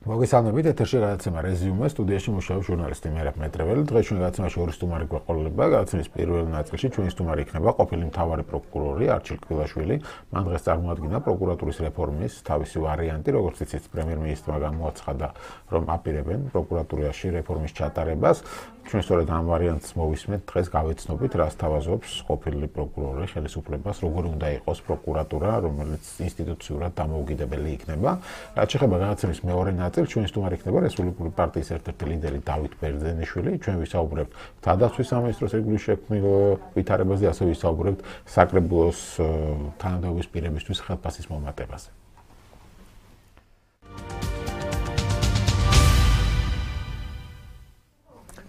მოგესალმებით, ეთერში გადაცემა რეზიუმე, სტუდიაში მუშაობს ჟურნალისტი მერაბ მეტრეველი. დღეს ჩვენ გადაცემაში ორი სტუმარი გვეყოლება. გადაცემის პირველ ნაწილში ჩვენი სტუმარი იქნება ყოფილი მთავარი პროკურორი არჩილ კბილაშვილი. მან დღეს წარმოადგინა პროკურატურის რეფორმის თავისი ვარიანტი, როგორც იცით, პრემიერ-მინისტრმა გამოაცხადა, რომ აპირებენ პროკურატურაში რეფორმის ჩატარებას. ჩვენ სწორედ ამ ვარიანტს მოვისმენთ, დღეს გავეცნობით, რას თავაზობს ყოფილი პროკურორი ხელისუფლებას, როგორი უნდა იყოს პროკურატურა, რომელიც ინსტიტუციურად დამოუკიდებელი იქნება. რაც შეეხება გადაცემის მეორე ნაწილს, ჩვენი სტუმარი იქნება რესპუბლიკური პარტიის ერთ-ერთი ლიდერი დავით ბერძენიშვილი. ჩვენ ვისაუბრებთ თავდაცვის სამინისტროს რეგულირების შექმნის ვითარებაზე, ასევე ვისაუბრებთ საკრებულოს თანამდებობის პირებისთვის ხელფასის მომატებაზე.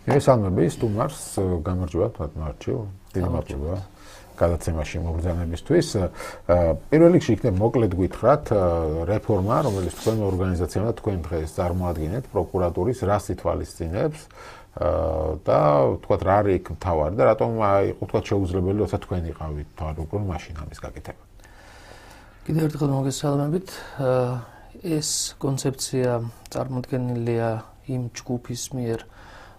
მესალმები სტუმარს, გამარჯობა მარჩილ, დიდი მადლობა გადაცემაში მოგზაურობისთვის. პირველ რიგში იქნებ მოკლედ გითხრათ რეფორმა, რომელიც თქვენ ორგანიზაციამ და თქვენ დღეს წარმოადგენთ პროკურატურის რას ითვალისწინებს და თქვათ რა არის იქ მთავარი და რატომ იყო თქვათ შეუძლებელი, როცა თქვენ იყავით თავრობურ მაშინ ამის გაკეთება. კიდევ ერთხელ მოგესალმებით. ეს კონცეფცია წარმოდგენილია იმ ჯგუფის მიერ,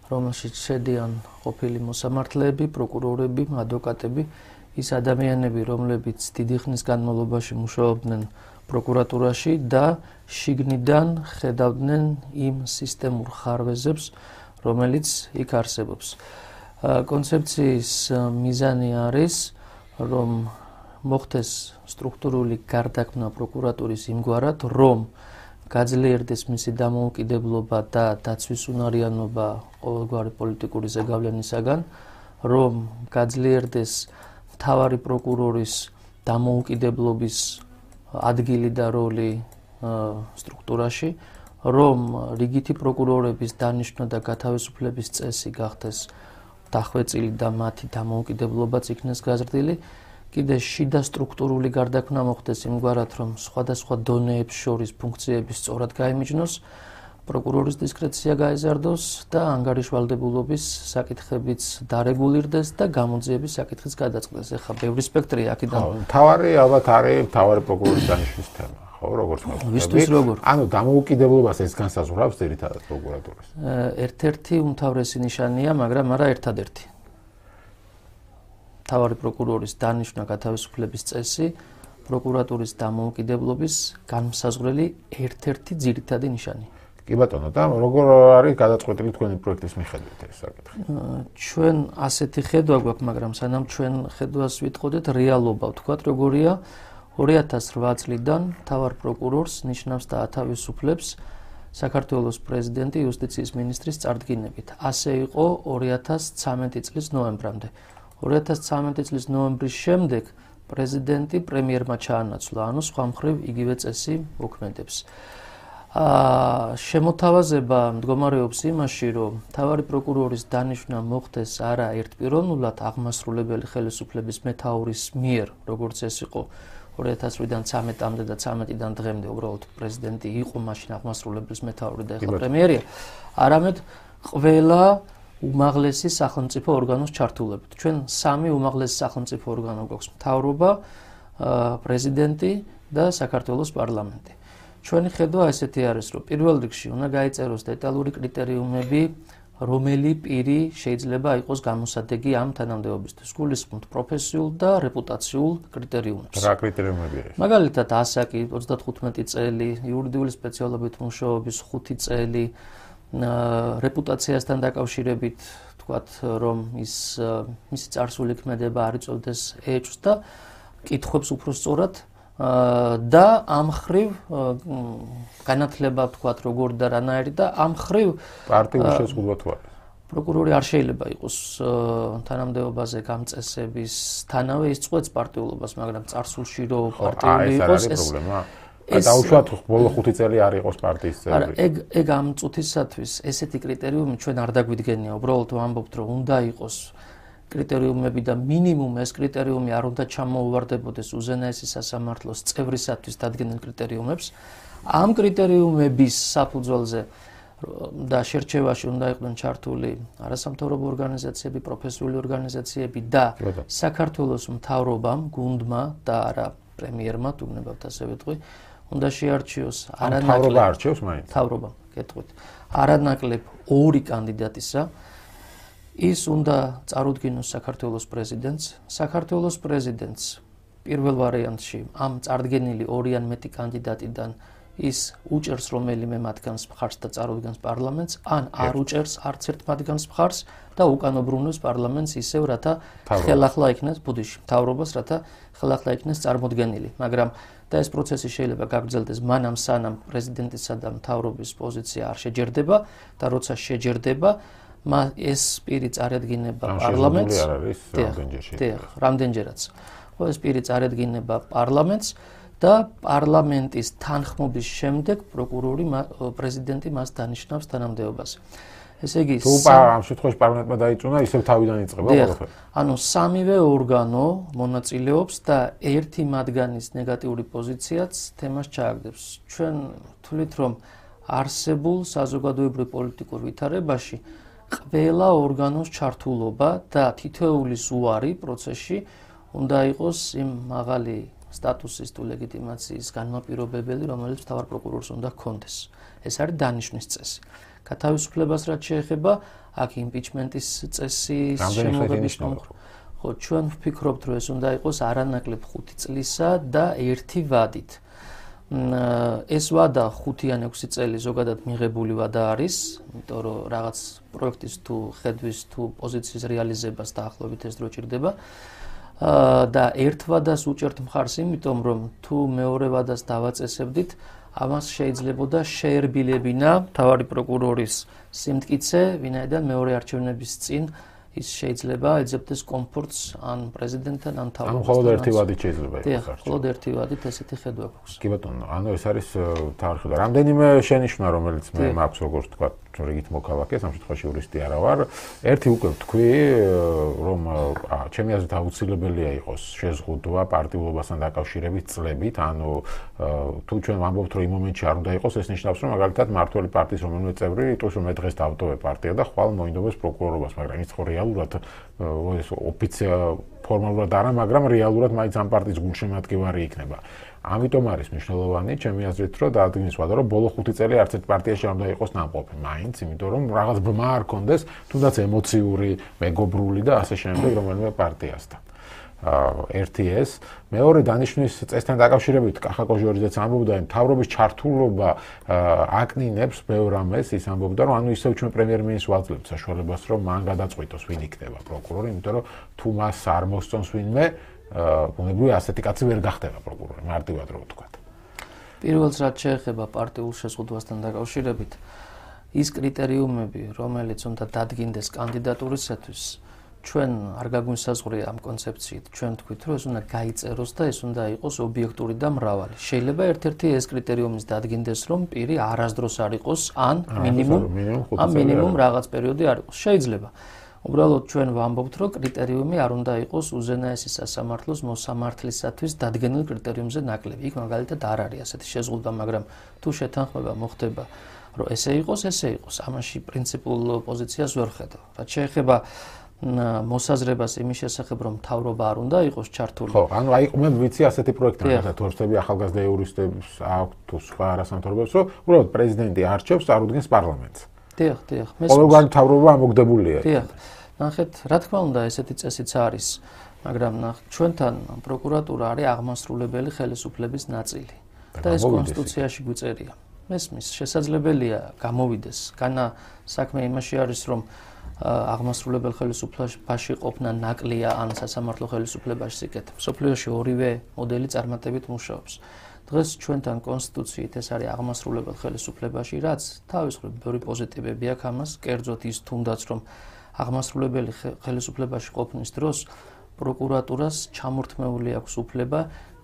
რომელშიც შედიან ყოფილი მოსამართლეები, პროკურორები, ადვოკატები, ის ადამიანები, რომლებიც დიდი ხნის განმავლობაში მუშაობდნენ პროკურატურაში და შიგნიდან ხედავდნენ იმ სისტემურ ხარვეზებს, რომელიც იქ არსებობს. კონცეფციის მიზანი არის, რომ მოხდეს სტრუქტურული გარდაქმნა პროკურატურის იმგვარად, რომ გაძლიერდეს მისი დამოუკიდებლობა და დაცვის უნარიანობა ყოველგვარი პოლიტიკური ზეგავლენისაგან, რომ გაძლიერდეს მთავარი პროკურორის დამოუკიდებლობის ადგილი და როლი სტრუქტურაში, რომ რიგითი პროკურორების დანიშვნა და გათავისუფლების წესი გახდეს დახვეწილი და მათი დამოუკიდებლობაც იქნეს გაზრდილი. კიდე შიდა სტრუქტურული გარდაქმნა მოხდეს იმგვარად, რომ სხვადასხვა დონეებს შორის ფუნქციები სწორად გაიმიჯნოს, პროკურორის დისკრეცია გაეზარდოს და ანგარიშვალდებულობის საკითხებიც დარეგულირდეს და გამოძიების საკითხიც გადაწყდეს. ეხლა ბევრი სპექტრია აქედან. მთავარი ალბათ არის მთავარი პროკურორის დანიშვნის თემა, ხო, როგორც მოხდება. ვისთვის როგორ? ანუ დამოუკიდებლობას ეს განსაზღვრავს ძირითადად პროკურატურის. ერთ-ერთი უმთავრესი ნიშანია, მაგრამ არა ერთადერთი. მთავარი პროკურორის დანიშვნა გათავისუფლების წესი პროკურატურის დამოუკიდებლობის განმსაზღვრელი ერთ-ერთი ძირითადი ნიშანია. კი ბატონო, და როგორ არის გადაწყვეტილი თქვენი პროექტის მიხედვით ეს საკითხი? ჩვენ ასეთი ხედვა გვაქვს, მაგრამ სანამ ჩვენ ხედვას ვიტყოდეთ, რეალობა ვთქვათ, როგორია 2008 წლიდან მთავარ პროკურორს ნიშნავს და ათავისუფლებს საქართველოს პრეზიდენტი იუსტიციის მინისტრის წარდგინებით. ასე იყო 2013 წლის ნოემბრამდე. 2013 წლის ნოემბრის შემდეგ პრეზიდენტი პრემიერმა ჩაანაცვლა, ანუ სხვა მხრივ იგივე წესი მოქმედებს. შემოთავაზება მდგომარეობს იმაში, რომ მთავარი პროკურორის დანიშვნა მოხდეს არა ერთპიროვნულად აღმასრულებელი ხელისუფლების მეთაურის მიერ, როგორც ეს იყო 2008-დან 13-მდე და 13-დან დღემდე, უბრალოდ პრეზიდენტი იყო მაშინ აღმასრულებლის მეთაური და ეხლა პრემიერია, არამედ ყველა უმაღლესი სახელმწიფო ორგანოს ჩართულებით. ჩვენ სამი უმაღლესი სახელმწიფო ორგანო გვაქვს: მთავრობა, პრეზიდენტი და საქართველოს პარლამენტი. ჩვენი ხედვა ესეთი არის, რომ პირველ რიგში უნდა გაიწეროს დეტალური კრიტერიუმები, რომელი პირი შეიძლება იყოს გამოსადეგი ამ თანამდებობისთვის. გულისხმობთ პროფესიულ და რეპუტაციულ კრიტერიუმებს. რა კრიტერიუმები არის? მაგალითად, ასაკი 35 წელი, იურიდიული სპეციალობით მუშაობის 5 წელი, რეპუტაციასთან დაკავშირებით თქვათ, რომ მისი წარსული ქმედება არ იწოვდეს ეჭვს და კითხვებს უფრო სწორად და ამ მხრივ განათლება თქვათ როგორ და რანაირი და ამ მხრივ პარტიული შეზღუდვა თუ არის? პროკურორი არ შეიძლება იყოს თანამდებობაზე გამწესებისთანავე ის წყვეტს პარტიულობას, მაგრამ წარსულში რო პარტიული იყოს ეს პრობლემა. დაუშვათ ბოლო 5 წელი არ იყოს პარტიის წევრი. არა, ეგ ამ წუთისათვის ესეთი კრიტერიუმი ჩვენ არ დაგვიდგენია, უბრალოდ ვამბობთ, რომ უნდა იყოს კრიტერიუმები და მინიმუმ ეს კრიტერიუმი არ უნდა ჩამოუვარდებოდეს უზენაესი სასამართლოს წევრისათვის დადგენილ კრიტერიუმებს. ამ კრიტერიუმების საფუძველზე და შერჩევაში უნდა იყვნენ ჩართული არასამთავრობო ორგანიზაციები, პროფესიული ორგანიზაციები და საქართველოს მთავრობამ, გუნდმა და არა პრემიერმა, თუ გნებავთ ასე ვიტყვი, უნდა შეარჩიოს მთავრობა არჩევს მაინც. მთავრობა, გეტყვით. არანაკლებ ორი კანდიდატისა ის უნდა წარუდგინოს საქართველოს პრეზიდენტს. საქართველოს პრეზიდენტს პირველ ვარიანტში ამ წარდგენილი ორი ან მეტი კანდიდატიდან ის უჭერს რომელიმე მათგანს მხარს და წარუდგენს პარლამენტს, ან არ უჭერს არც ერთ მათგანს მხარს და უკან უბრუნებს პარლამენტს ისევ, რათა ხელახლა იქნეს ბუდიში მთავრობას, რათა ხელახლა იქნეს წარმოდგენილი. მაგრამ და ეს პროცესი შეიძლება გაგრძელდეს მანამ სანამ პრეზიდენტისა და მთავრობის პოზიცია არ შეჯერდება და როცა შეჯერდება, ეს პირი წარადგინება პარლამენტს. რამდენჯერაც. ეს პირი წარადგინება პარლამენტს და პარლამენტის თანხმობის შემდეგ პროკურორი პრეზიდენტი მას დანიშნავს თანამდებობაზე. ესე იგი, თუ ამ შემთხვევაში პარლამენტმა დაიწუნა, ისევ თავიდან იწყება ყველაფერი. ანუ სამივე ორგანო მონაწილეობს და ერთი მათგანის ნეგატიური პოზიციაც თემას ჩააგდებს. ჩვენ ვთვლით, რომ არსებულ საზოგადოებრივ პოლიტიკურ ვითარებაში ყველა ორგანოს ჩართულობა და თითოეულის უარი პროცესში უნდა იყოს იმ მაღალი სტატუსის თუ ლეგიტიმაციის განმაპირობებელი, რომელიც მთავარ პროკურორს უნდა ჰქონდეს. ეს არის დანიშვნის წესი. გათავისუფლებას რაც შეეხება, აქ იმპიჩმენტის წესის შემოღების ხო, ჩვენ ვფიქრობთ, რომ ეს უნდა იყოს არანაკლებ 5 წლისა და 1 ვადით. ეს ვადა 5 ან 6 წელი ზოგადად მიღებული ვადა არის, იმიტომ რომ რაღაც პროექტის თუ ხედვის თუ პოზიციის რეალიზებას დაახლოებით ეს დრო ჭირდება. და ერთ ვადას უჭერთ მხარს, იმიტომ რომ თუ მეორე ვადას დავაწესებდით, ამას შეიძლებოდა შეერბილებინა მთავარი პროკურორის სიმტკიცე, ვინაიდან მეორე არჩევნების წინ ის შეიძლება ეძებდეს კომფორტს ან პრეზიდენტთან ან მთავრობასთან. ანუ მხოლოდ ერთი ვადით შეიძლება იყოს არჩევანი. მხოლოდ ერთი ვადით ესეთი ხედვა გვაქვს. კი ბატონო, ანუ ეს არის მთავარი ხედვა. რამდენიმე შენიშვნა, რომელიც მე მაქვს, როგორც თქვა, რიგით მოქალაქეს, ამ შემთხვევაში იურისტი არა ვარ. ერთი უკვე ვთქვი, რომ ჩემი აზრით აუცილებელია იყოს შეზღუდვა პარტიულობასთან დაკავშირებით წლებით, ანუ თუ ჩვენ ვამბობთ, რომ იმ მომენტში არ უნდა იყოს, ეს ნიშნავს, რომ მაგალითად მართველი პარტიის რომელიმე წევრი იტყვის, რომ მე დღეს დავტოვე პარტია და ხვალ მოინდომეს პროკურორობას, მაგრამ ის ხო რეალურად ეს ფორმალურად არა, მაგრამ რეალურად მაინც ამ პარტიის გულშემატკივარი იქნება. ამიტომ არის მნიშვნელოვანი, ჩემი აზრით, რომ დაადგინოს ვადა, რომ ბოლო 5 წელი არც ერთ პარტიაში არ უნდა იყოს ნამყოფი, მაინც, იმიტომ რომ რაღაც ბმა არ კონდეს, თუნდაც ემოციური, მეგობრული და ასე შემდეგ რომელიმე პარტიასთან. ერთი ეს, მეორე დანიშვნის წესთან დაკავშირებით კახა კოჟორიძეც ამბობდა, რომ მთავრობის ჩართულობა აკნინებს ბევრ ამას, ის ამბობდა, რომ ანუ ისევ ჩვენ პრემიერ-მინისტრს ვაძლევთ საშუალებას, რომ მან გადაწყვიტოს, ვინ იქნება პროკურორი, იმიტომ რომ თუ მას არ მოსწონს ვინმე, ბუნებრივია ასეთი კაცი ვერ გახდება პროკურორი, მარტივად რო ვთქვათ. პირველს რაც შეეხება პარტიულ შეზღუდვასთან დაკავშირებით, ის კრიტერიუმები, რომელიც უნდა დადგინდეს კანდიდატურისათვის, ჩვენ არ გაგვინსაზღვრია ამ კონცეფციით, ჩვენ თქვით, რომ ეს უნდა გაიწეროს და ეს უნდა იყოს ობიექტური და მრავალი. შეიძლება ერთ-ერთი ეს კრიტერიუმის დადგინდეს, რომ პირი არასდროს არ იყოს, ან მინიმუმ რაღაც პერიოდი არ იყოს. შეიძლება. უბრალოდ ჩვენ ვამბობთ, რომ კრიტერიუმი არ უნდა იყოს უზენაესი სასამართლოს მოსამართლისათვის დადგენილ კრიტერიუმზე ნაკლები. იქ მაგალითად არ არის ასეთი შეზღუდვა, მაგრამ თუ შეთანხმება მოხდება, რომ ესე იყოს, ესე იყოს. ამაში პრინციპულ პოზიციას ვერ ხედავ. რაც შეეხება მოსაზრებას იმის შესახებ, რომ მთავრობა არ უნდა იყოს ჩართული. ხო, ანუ აი მე ვიცი ასეთი პროექტი, მაგალითად თორსები ახალგაზრდა იურისტებს აქვთ თუ სხვა არასამთავრობოებს, რომ უბრალოდ პრეზიდენტი არჩევს, წარუდგენს პარლამენტს. დიახ. ყოველგვარი მთავრობა ამოგდებულია. დიახ. ნახეთ, რა თქმა უნდა, ესეთი წესიც არის, მაგრამ ჩვენთან პროკურატურა არის აღმასრულებელი ხელისუფლების ნაწილი და ეს კონსტიტუციაში გვიწერია. მესმის, შესაძლებელია გამოვიდეს. განა საქმე იმაში არის, რომ აღმასრულებელ ხელისუფლებაში ყოფნა ნაკლია ან სასამართლო ხელისუფლებაში სიკეთ. სოფლიოში ორივე მოდელი წარმატებით მუშაობს. დღეს ჩვენთან კონსტიტუციით ეს არის აღმასრულებელ ხელისუფლებაში, რაც თავის მხრივ ბევრი პოზიტივები აქვს ამას, კერძოდ ის თუნდაც რომ აღმასრულებელი ხელისუფლებაში ყოფნის დროს პროკურატურას ჩამორთმეული აქვს უფლება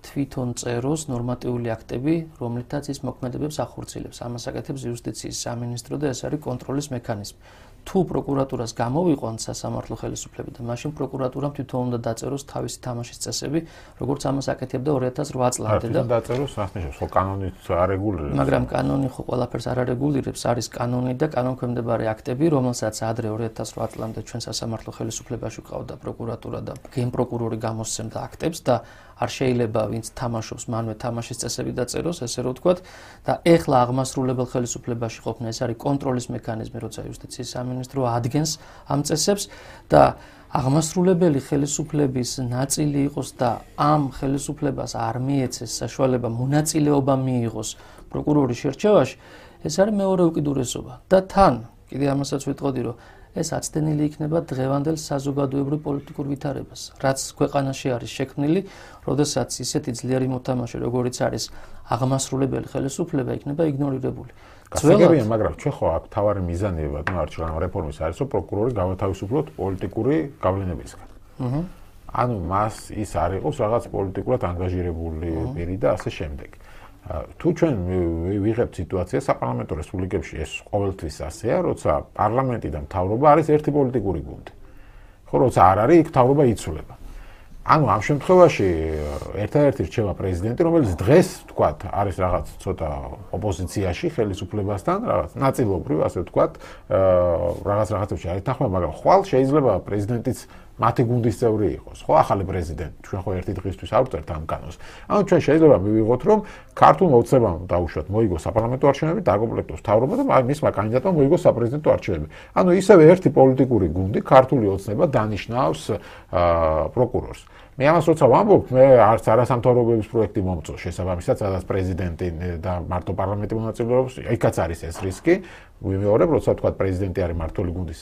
თვითონ წეროს ნორმატიული აქტები, რომლითაც ის მოქმედებებს ახორციელებს. ამას აკეთებს იუსტიციის სამინისტრო და ეს არის კონტროლის მექანიზმი. თუ პროკურატურას გამოვიყვანთ სასამართლო ხელისუფლება და მაშინ პროკურატურამ თვითონ უნდა დაწეროს თავისი თამაშის წესები, როგორც ამას აკეთებდა 2008 წლამდე და დაწეროს სასნიშნავს, ხო კანონით არეგულირებს. მაგრამ კანონი ხო ყველაფერს არ არეგულირებს, არის კანონი და კანონქვემდებარე აქტები, რომელსაც ადრე 2008 წლამდე ჩვენ სასამართლო ხელისუფლებაში ყავდა პროკურატურა და გენპროკურორი გამოსცემდა აქტებს და არ შეიძლება ვინც თამაშობს მანვე თამაშის წესები დაწეროს, ესე რომ ვთქვათ, და ეხლა აღმასრულებელ ხელისუფლებაში ყოფნა ეს არის კონტროლის მექანიზმი, როცა იუსტიციის სამინისტრო ადგენს ამ წესებს და აღმასრულებელი ხელისუფლების ნაწილი იყოს და ამ ხელისუფლებას არ მიეცეს საშუალება მონაწილეობა მიიღოს პროკურორის შერჩევაში, ეს არის მეორე უკიდურესობა და თან კიდე ამასაც ვიტყოდი, რომ ეს აცდენილი იქნება დღევანდელ საზოგადოებრივ პოლიტიკურ ვითარებას, რაც ქვეყანაში არის შექმნილი, როდესაც ისეთი ძლიერი მოთამაშე, როგორიც არის აღმასრულებელი ხელისუფლება, იქნება იგნორირებული. გასაგებია, მაგრამ ჩვენ ხო აქ თავარი მიზანია, არჩევნო რეფორმის არის, რომ პროკურორი გავათავისუფლოთ პოლიტიკური გავლენებისგან. ანუ მას ის არ იყოს რაღაც პოლიტიკურად ანგაჟირებული პირი და ასე შემდეგ. თუ ჩვენ ვიღებთ სიტუაციას საპარლამენტო რესპუბლიკებში, ეს ყოველთვის ასეა, როცა პარლამენტი და მთავრობა არის ერთი პოლიტიკური გუნდი. ხო, როცა არ არის, იქ მთავრობა იცვლება. ანუ ამ შემთხვევაში ერთადერთი რჩება პრეზიდენტი, რომელიც დღეს, ვთქვათ, არის რაღაც ცოტა ოპოზიციაში ხელისუფლებასთან, რაღაც ნაწილობრივ, ასე ვთქვათ, რაღაცებში არის თანხმობა, მაგრამ ხვალ შეიძლება პრეზიდენტიც მათი გუნდის წევრი იყოს, ხო, ახალი პრეზიდენტი. ჩვენ ხო ერთი დღისთვის არ ვწერთ ამ კანონს. ანუ ჩვენ შეიძლება მივიღოთ, რომ ქართულ მოცემამ დაუშვათ, მოიგოს საპარლამენტო არჩევნები, დაკომპლექტოს მთავრობა და მისმა კანდიდატმა მოიგოს საპრეზიდენტო არჩევნები. ანუ ისევე ერთი პოლიტიკური გუნდი, ქართული ოცნება დანიშნავს პროკურორს. მე ამას როცა ვამბობ, მე არც არასამთავრობოების პროექტი მომწონს შესაბამისად, სადაც პრეზიდენტი და მარტო პარლამენტი მონაწილეობს, იქაც არის ეს რისკი. ვიმეორებ, როცა თქვა პრეზიდენტი არის მართული გუნდის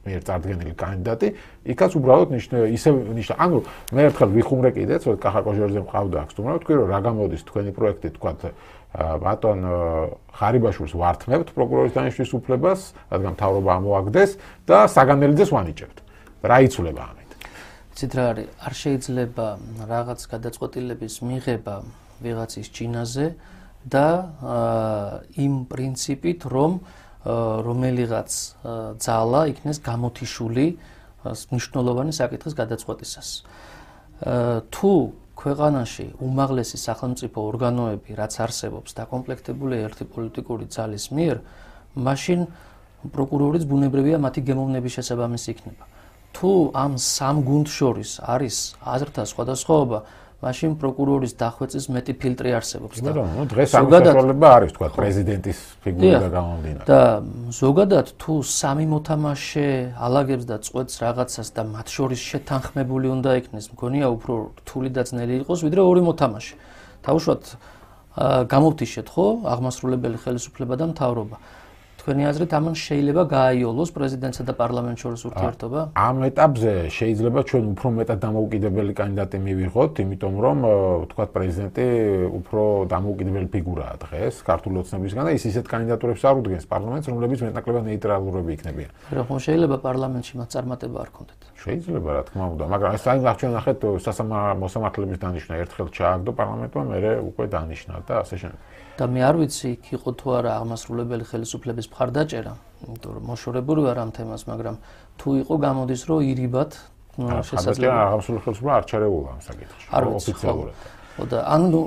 მიერ წარდგენილი კანდიდატი, იქაც უბრალოდ ნიშნა. ანუ მე ერთხელ ვიხუმრე კიდეც, რომ კახაკოჟორზე მყავდა აქ სტუმრობა, თქვი რომ რა გამოდის თქვენი პროექტი, თქვა ბატონ ხარიბაშვილს ვართმევთ პროკურორის დანიშვნის უფლებას, რადგან მთავრობა ამოაგდეს და საგანელიძეს ვანიჭებთ. რა იცვლება ამით? ცით რა არის, არ შეიძლება რაღაც გადაწყვეტილების მიღება ვიღაცის ჩინაზე და იმ პრინციპით, რომ რომელიღაც ძალა იქნეს გამოთიშული მნიშვნელოვანი საკითხის გადაწყვეტისას. თუ ქვეყანაში უმაღლესი სახელმწიფო ორგანოები, რაც არსებობს, დაკომპლექტებული ერთი პოლიტიკური ძალის მიერ, მაშინ პროკურორის ბუნებრივია მათი გემოვნების შესაბამისი იქნება. თუ ამ სამ გუნდს შორის არის აზრთა სხვადასხვაობა, მაშინ პროკურორის დახვეწის მეტი ფილტრი არსებობს და დღეს ამ საშუალება არის, თქვა პრეზიდენტის ფიგურიდან გამომდინარე. და ზოგადად თუ სამი მოთამაშე ალაგებს და წყვეტს რაღაცას და მათ შორის შეთანხმებული უნდა იქნეს, მგონია უფრო რთული და ძნელი იყოს, ვიდრე ორი მოთამაშე. თავშოთ გამოვთიშეთ, ხო, აღმასრულებელი ხელისუფლება და მთავრობა. თქვენი აზრით ამან შეიძლება გააიოლოს პრეზიდენტსა და პარლამენტს შორის ურთიერთობა? ამ ეტაპზე შეიძლება ჩვენ უფრო მეტად დამოუკიდებელი კანდიდატი მივიღოთ, იმიტომ რომ ვთქვათ პრეზიდენტი უფრო დამოუკიდებელი ფიგურაა დღეს ქართული ოცნებისგან და ის ისეთ კანდიდატურებს არ უდგენს პარლამენტს, რომლებიც მეტნაკლებად ნეიტრალურები იქნებიან. ხო, შეიძლება პარლამენტში მათ წარმატება არ ქონდეთ. შეიძლება, რა თქმა უნდა, მაგრამ ეს აი ჩვენ ნახეთ მოსამართლების დანიშვნა ერთხელ ჩააგდო პარლამენტმა, მერე უკვე დანიშნა და ასე შემდეგ. და მე არ ვიცი იქ იყო თუ არა აღმასრულებელი ხელისუფლების მხარდაჭერა, იმიტომ რომ მოშორებული ვარ ამ თემას, მაგრამ თუ იყო გამოდის რომ ირიბად შესაძლოა აღმასრულებელი ხელისუფლება არ ჩარეულა ამ საკითხში ოფიციალურად. და ანუ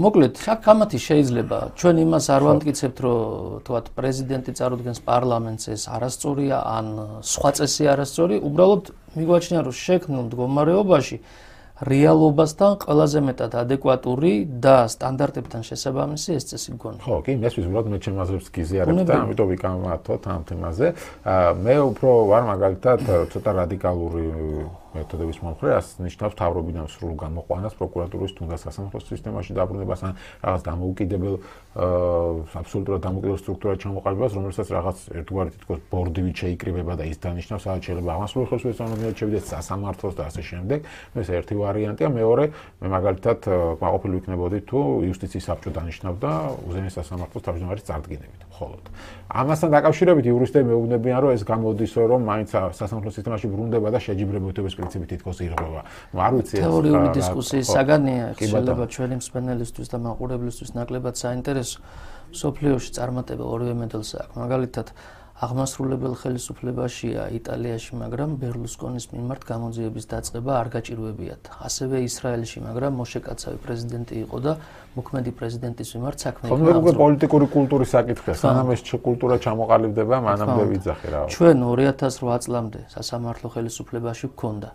მოკლედ აქ ამათი შეიძლება ჩვენ იმას არ ვამტკიცებთ რომ თქვათ პრეზიდენტი წარუდგენს პარლამენტს ეს არასწორია ან სხვა წესი არასწორი, უბრალოდ მიგვაჩნია რომ შექმნილ მდგომარეობაში რეალობასთან ყველაზე მეტად ადეკვატური და სტანდარტებთან შესაბამისი ეს წესი გქონდა. ხო, კი, მესმის უბრალოდ მე ჩემ აზრებს გიზიარებ და ამიტომ ვიკამათოთ ამ თემაზე. მე უფრო ვარ მაგალითად ცოტა რადიკალური მეთოდების მომხრე, ასე ნიშნავს მთავრობიდან სრულ გამოყვანას პროკურატურის თუნდაც სასამართლო სისტემაში დაბრუნებას ან რაღაც დამოუკიდებელ აბსოლუტურად დამოუკიდებელ სტრუქტურად ჩამოყალიბებას, რომელსაც რაღაც ერთგვარი თითქოს ბორდივით შეიკრიბება და ის დანიშნავს, სადაც შეიძლება აღმასრულებელი ხელისუფლების წარმომადგენლად შევიდეს სასამართლოს და ასე შემდეგ. ეს ერთი ვარიანტია, მეორე მე მაგალითად კმაყოფილი ვიქნებოდი თუ იუსტიციის საბჭო დანიშნავდა უზენაეს სასამართლოს თავმჯდომარის წარდგინებით. მხოლოდ ამასთან დაკავშირებით იურისტები მეუბნებიან, რომ ეს გამოდის, რომ მაინც სასამართლო სისტემაში ბრუნდება და შეჯიბრებითობის პრინციპი თითქოს ირღვევა. არ ვიცი ეს თეორიული დისკუსიის საგანია, შეიძლება ჩვენი მსმენელისთვის და მაყურებლისთვის ნაკლებად საინტერესო. სოფლიოში წარმატება ორივე მედალს აქვს. მაგალითად, აღმასრულებელ ხელისუფლებაშია იტალიაში, მაგრამ ბერლუსკონის მიმართ გამოძიების დაწყება არ გაჭირვებიათ. ასევე ისრაელში, მაგრამ მოშეკაცავი პრეზიდენტი იყო და მოქმედი პრეზიდენტის მიმართ საქმე იყო. ხომ უკვე პოლიტიკური კულტურის საკითხია, სანამ ეს კულტურა ჩამოყალიბდება, მანამდე ვიძახი რა. ჩვენ 2008 წლამდე სასამართლო ხელისუფლებაში გქონდა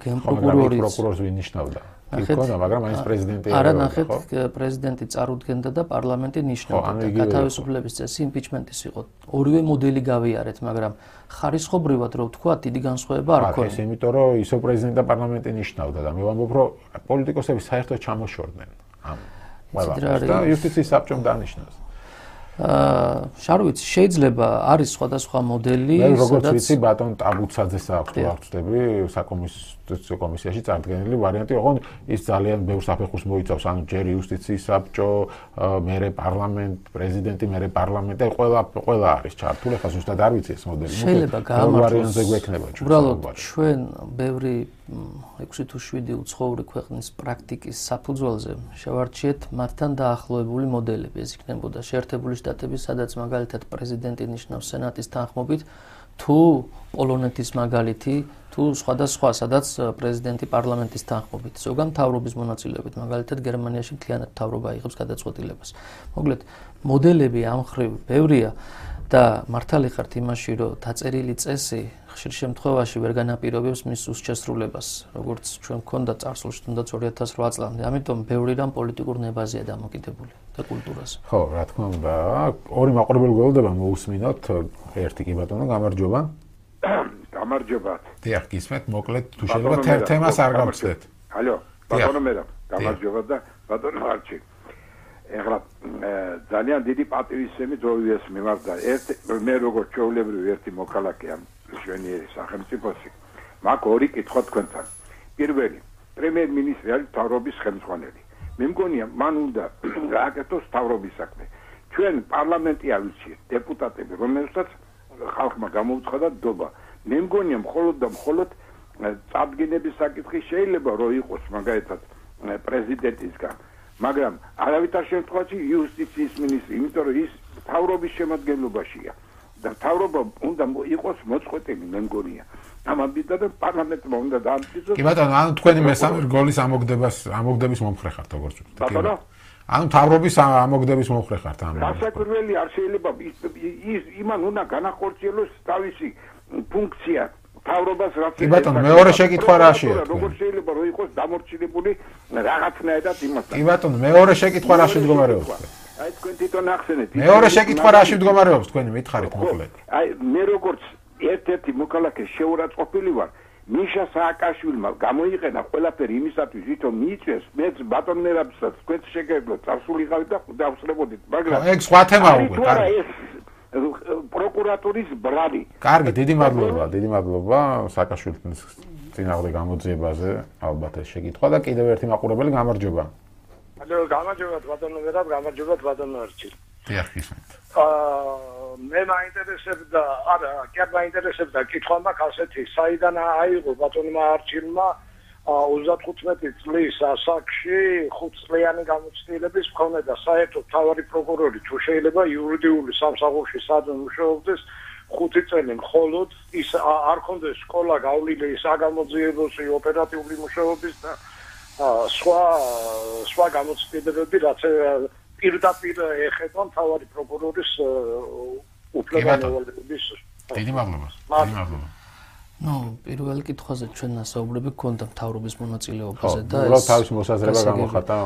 გენპროკურორის პროკურორს ვინიშნავდა. იქონდა, მაგრამ მაინც პრეზიდენტი არა, ნახეთ, პრეზიდენტი წარუდგენდა და პარლამენტი ნიშნავდა და გათავისუფლების წესი იმპიჩმენტის იყო. ორივე მოდელი გავიარეთ, მაგრამ ხარისხობრივად რო ვთქვა, დიდი განსხვავება არ ქონია. ეს იმიტომ რომ ისო პრეზიდენტი და პარლამენტი ნიშნავდა და მე ვამბობ, რომ პოლიტიკოსები საერთოდ ჩამოშორდნენ ამ ყველაფერს და იუსტიციის საბჭომ დანიშნავს. შარვიც შეიძლება არის სხვადასხვა მოდელი, სადაც როგორც ვიცი ბატონ ტაბუცაძეს აქვს თუ არ ვწდები საკომისიო კომისიაში წარდგენილი ვარიანტი, ოღონდ ის ძალიან ბევრ საფეხურს მოიცავს, ანუ ჯერ იუსტიციის საბჭო, მერე პარლამენტ, პრეზიდენტი, მერე პარლამენტი, ყველა არის ჩართული, ხა ზუსტად არ ვიცი ეს მოდელი. შეიძლება გაამართლოს გვექნება ჩვენ. უბრალოდ ჩვენ ბევრი 6 თუ 7 უცხოური ქვეყნის პრაქტიკის საფუძველზე შევარჩიეთ მათთან დაახლოებული მოდელები. ეს იქნებოდა შეერთებული შტატები, სადაც მაგალითად პრეზიდენტი ნიშნავს სენატის თანხმობით, თუ პოლონეთის მაგალითი, თუ სხვადასხვა, სადაც პრეზიდენტი პარლამენტის თანხმობით, ზოგან მთავრობის მონაწილეობით, მაგალითად გერმანიაში მთლიანად მთავრობა იღებს გადაწყვეტილებას. მოკლედ, მოდელები ამ მხრივ ბევრია და მართალი ხართ იმაში, რომ დაწერილი წესი ხშირ შემთხვევაში ვერ განაპირობებს მის უსჩესრულებას, როგორც ჩვენ გქონდა წარსულში, თუნდაც 2008 წლამდე. ამიტომ ბევრი რამ პოლიტიკურ ნებაზეა დამოკიდებული და კულტურაზე. ხო, რა თქმა უნდა, ორი მაყურებელი გველოდება მოусმინოთ, ერთი კი ბატონო, გამარჯობა. გამარჯობა. დიახ, გისმენთ, მოკლედ თუ შეიძლება თემას არ გავხსნათ. ალო, ბატონო მერაბ, გამარჯობა და ბატონო არჩი. ეხლა ძალიან დიდი პატივისცემი ძოვიეს მიმართ და მე როგორც ჩვეულებრივი ერთი მოქალაქე ამ შვენიერი სახელმწიფოში მაგ ორი კითხვა თქვენთან. პირველი, პრემიერ-მინისტრი არის მთავრობის ხელმძღვანელი. მე მგონია მან უნდა გააკეთოს მთავრობის საქმე. ჩვენ პარლამენტი ავირჩიეთ, დეპუტატები, რომელსაც ხალხმა გამოუცხადა დობა. მე მგონია მხოლოდ და მხოლოდ წარდგენების საკითხი შეიძლება რომ იყოს მაგალითად პრეზიდენტისგან. მაგრამ არავითარ შემთხვევაში იუსტიციის მინისტრი, იმიტომ რომ ის მთავრობის შემადგენლობაშია და მთავრობა უნდა იყოს მოწყვეტილი, მე მგონია. ამბიდა და პარლამენტმა უნდა დაამტკიცოს. კი ბატონო, ანუ თქვენი მესამე რგოლის ამოგდების მომხრე ხართ, როგორც ვთქვით. ბატონო? ანუ მთავრობის ამოგდების მომხრე ხართ ამ. გასაკვირველი არ შეიძლება იმან უნდა განახორციელოს თავისი ფუნქცია. მთავრობას რაც კი ბატონო, მეორე შეკითხვა რაშია? როგორ შეიძლება რომ იყოს დამორჩილებული რაღაცნაირად იმასთან? კი ბატონო, მეორე შეკითხვა რაში მდგომარეობს? აი თქვენ თვითონ ახსენეთ. მეორე შეკითხვა რაში მდგომარეობს თქვენი მითხარით მოკლედ? აი მე როგორც ერთ-ერთი მოქალაქე შეურაცხყოფილი ვარ, მიშა სააკაშვილმა გამოიყენა ყველაფერი იმისათვის, ვითომ მიიწვიეს მეც ბატონ მერაბსაც თქვენ შეგეძლოთ წარსულიყავით და დავსწრებოდით, მაგრამ ეგ სხვა თემაა უკვე, კარგი. პროკურატურის ბრალი. კარგი, დიდი მადლობა სააკაშვილის წინააღმდეგ გამოძიებაზე, ალბათ ეს შეკითხვა და კიდევ ერთი მაყურებელი გამარჯობა. ალო, გამარჯობა ბატონო მერაბ, გამარჯობა ბატონო არჩილ. დიახ, ისმენთ. მე მაინტერესებდა, არა, კი არ მაინტერესებდა კითხვა მაქვს ასეთი, საიდან აიღო ბატონმა არჩილმა 35 წლის ასაკში 5 წლიანი გამოცდილების მქონე და საერთოდ მთავარი პროკურორი თუ შეიძლება იურიდიული სამსახურში სადღაც მუშაობდეს 5 წელი მხოლოდ ის არ ქონდეს სკოლა გავლილი საგამოძიებელში ოპერატიული მუშაობის და სხვა გამოცდილებები რაც პირდაპირ ეხება მთავარი პროკურორის უფლებამოსილების. დიდი მადლობა. ნუ პირველ კითხვაზე ჩვენ ასაუბრები გქონდა მთავრობის მონაწილეობაზე და ეს თავის მოსაზრება გამოხატა.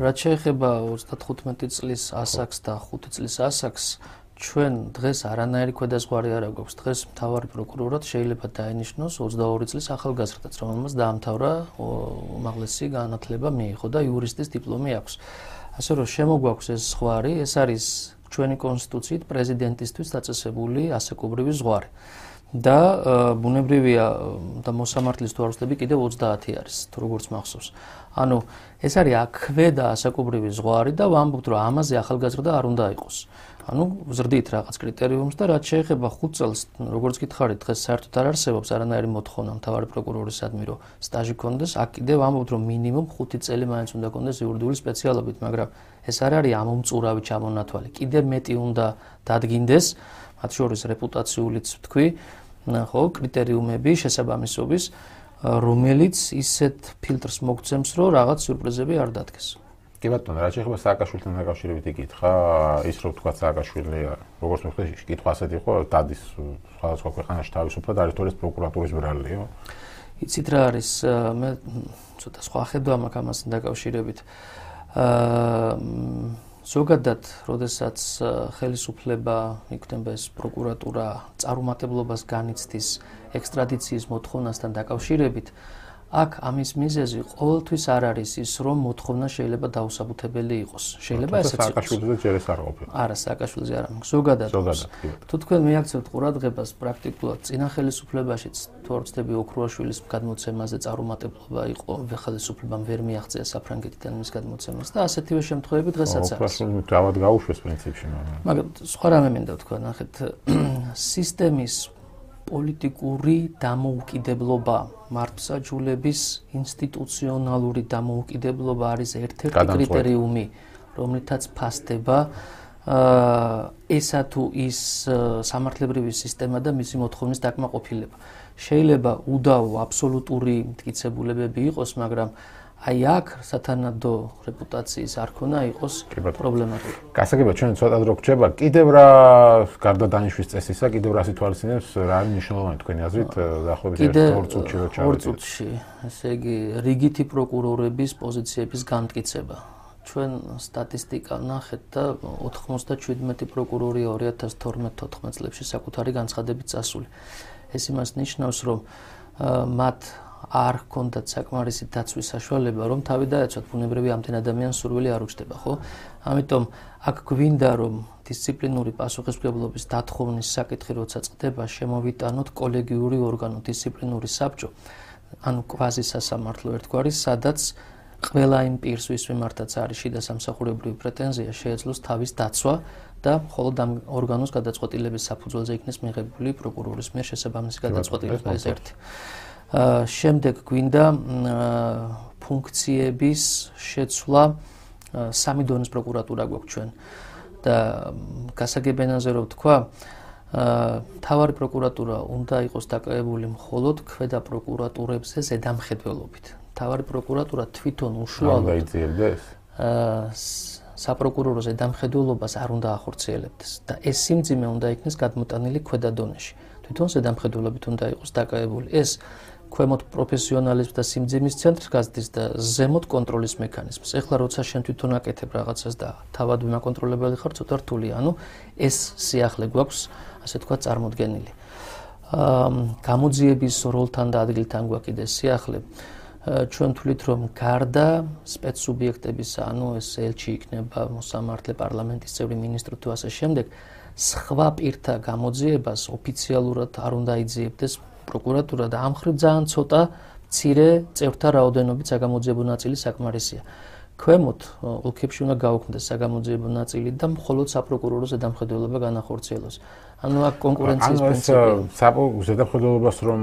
რაც შეეხება 35 წლის ასაკს და 5 წლის ასაკს, ჩვენ დღეს არანაირი ქვედაზღვარი არ აქვს. დღეს მთავარი პროკურორად შეიძლება დაენიშნოს 22 წლის ახალგაზრდაც, რომელმაც დაამთავრა უმაღლესი განათლება მიიღო და იურისტის დიპლომი აქვს. ასე რომ შემოგვაქვს ეს ზღვარი, ეს არის ჩვენი კონსტიტუციით პრეზიდენტისთვის დაწესებული ასაკობრივი ზღვარი. და ბუნებრივია და მოსამართლის თუ არ ვწდები კიდევ 30 არის, თუ როგორც მახსოვს. ანუ ეს არის აქვედა ასაკობრივი ზღვარი და ვამბობთ, რომ ამაზე ახალგაზრდა არ უნდა იყოს. ანუ ვზრდით რაღაც კრიტერიუმს და რაც შეეხება 5 წელს, როგორც გითხარით, დღეს საერთოდ არ არსებობს არანაირი მოთხოვნა მთავარი პროკურორისადმი, რომ სტაჟი ქონდეს. აქ კიდევ ვამბობთ, რომ მინიმუმ 5 წელი მაინც უნდა ქონდეს იურიდიული სპეციალობით, მაგრამ ეს არ არის ამომწურავი ჩამონათვალი. კიდევ მეტი უნდა დადგინდეს. მათ შორის რეპუტაციულიც ვთქვი, ხო, კრიტერიუმები შესაბამისობის, რომელიც ისეთ ფილტრს მოგცემს, რომ რაღაც სიურპრიზები არ დადგეს. კი ბატონო, რა შეიძლება სააკაშვილთან დაკავშირებით იკითხა, ის რომ თქვა სააკაშვილი, როგორც მოხდა, კითხვა ასეთი იყო, დადის სხვადასხვა ქვეყანაში თავისუფლად არის თუ არა პროკურატურის ბრალიო? იცით რა არის, მე ცოტა სხვა ხედვა მაქვს ამასთან დაკავშირებით. ზოგადად, როდესაც ხელისუფლება იქნება ეს პროკურატურა წარუმატებლობას განიცდის ექსტრადიციის მოთხოვნასთან დაკავშირებით, აქ ამის მიზეზი ყოველთვის არ არის ის, რომ მოთხოვნა შეიძლება დაუსაბუთებელი იყოს. შეიძლება ესეც იყოს. სააკაშვილიზე ჯერ ეს არ ყოფილა. არა, სააკაშვილიზე არა, ზოგადად. თუ თქვენ მიაქცევთ ყურადღებას, პრაქტიკულად წინა ხელისუფლებაშიც თუ არ ვცდები ოქრუაშვილის გადმოცემაზე წარუმატებლობა იყო, ხელისუფლებამ ვერ მიაღწია საფრანგეთიდან მის გადმოცემას და ასეთივე შემთხვევები დღესაც არის. ოქრუაშვილი თავად გაუშვეს პრინციპში, მაგრამ სხვა რამე მინდა ვთქვა, ნახეთ, სისტემის პოლიტიკური დამოუკიდებლობა, მართლმსაჯულების ინსტიტუციონალური დამოუკიდებლობა არის ერთ-ერთი კრიტერიუმი, რომლითაც ფასდება ესა თუ ის სამართლებრივი სისტემა და მისი მოთხოვნის დაკმაყოფილება. შეიძლება უდავო აბსოლუტური მტკიცებულებები იყოს, მაგრამ აი აქ სათანადო რეპუტაციის არ ქონა იყოს პრობლემატური. გასაგებად ჩვენ ცოტა დრო გრჩება, კიდევ რა გარდა დანიშვნის წესისა, კიდევ რა სიტუაციებს რა არის მნიშვნელოვანი თქვენი აზრით დაახლოებით 2 წუთში რო ჩავედით? 2 წუთში, ესე იგი რიგითი პროკურორების პოზიციების განმტკიცება. ჩვენ სტატისტიკა ვნახეთ და 97 პროკურორი 2012-14 წლებში საკუთარი განცხადებით წასული. ეს იმას ნიშნავს, რომ მათ არ ჰქონდათ საკმარისი დაცვის საშუალება, რომ თავი დაეცვათ, ბუნებრივი ამდენ ადამიანს სურვილი არ უჩნდება, ხო? ამიტომ აქ გვინდა, რომ დისციპლინური პასუხისმგებლობის დათხოვნის საკითხი როცა წყდება, შემოვიტანოთ კოლეგიური ორგანო, დისციპლინური საბჭო, ანუ კვაზი სასამართლო ერთგვარი, სადაც ყველა იმ პირს, ვის მიმართაც არის შიდა სამსახურებრივი პრეტენზია, შეეძლოს თავის დაცვა და მხოლოდ ამ ორგანოს გადაწყვეტილების საფუძველზე იქნეს მიღებული პროკურორის მიერ შესაბამისი გადაწყვეტილება, ეს ერთი. შემდეგ გვინდა ფუნქციების შეცვლა, სამი დონის პროკურატურა გვაქვს ჩვენ და გასაგებენაზე რომ ვთქვა, მთავარი პროკურატურა უნდა იყოს დაკავებული მხოლოდ ქვედა პროკურატურებზე ზედამხედველობით. მთავარი პროკურატურა თვითონ უშუალოდ დაიძიებდეს საპროკურორო ზედამხედველობას არ უნდა ახორციელებდეს და ეს სიმძიმე უნდა იქნეს გადმოტანილი ქვედა დონეში. თვითონ ზედამხედველობით უნდა იყოს დაკავებული. ეს ქვემოთ პროფესიონალიზმს და სიმძიმის ცენტრს გაზრდის და ზემოთ კონტროლის მექანიზმს. ეხლა როცა შენ თვითონ აკეთებ რაღაცას და თავად მაკონტროლებელი ხარ, ცოტა რთულია. ანუ ეს სიახლე გვაქვს, ასე თქვა, წარმოდგენილი. გამოძიების როლთან და ადგილთან გვაქვს კიდე სიახლე. ჩვენ თვლით, რომ გარდა სპეცსუბიექტებისა, ანუ ეს ელჩი იქნება, მოსამართლე, პარლამენტის წევრი, მინისტრი თუ ასე შემდეგ, სხვა პირთა გამოძიებას ოფიციალურად არ უნდა იძიებდეს პროკურატურა და ამ ხრივ ძალიან ცოტა მცირე წევრთა რაოდენობით საგამოძიებო ნაწილი საკმარისია. ქვემოთ ოლქებში უნდა გაუქმდეს საგამოძიებო ნაწილი და მხოლოდ საპროკურორო ზედამხედველობა განახორციელოს. ანუ აქ კონკურენციის პრინციპი. ზედამხედველობას რომ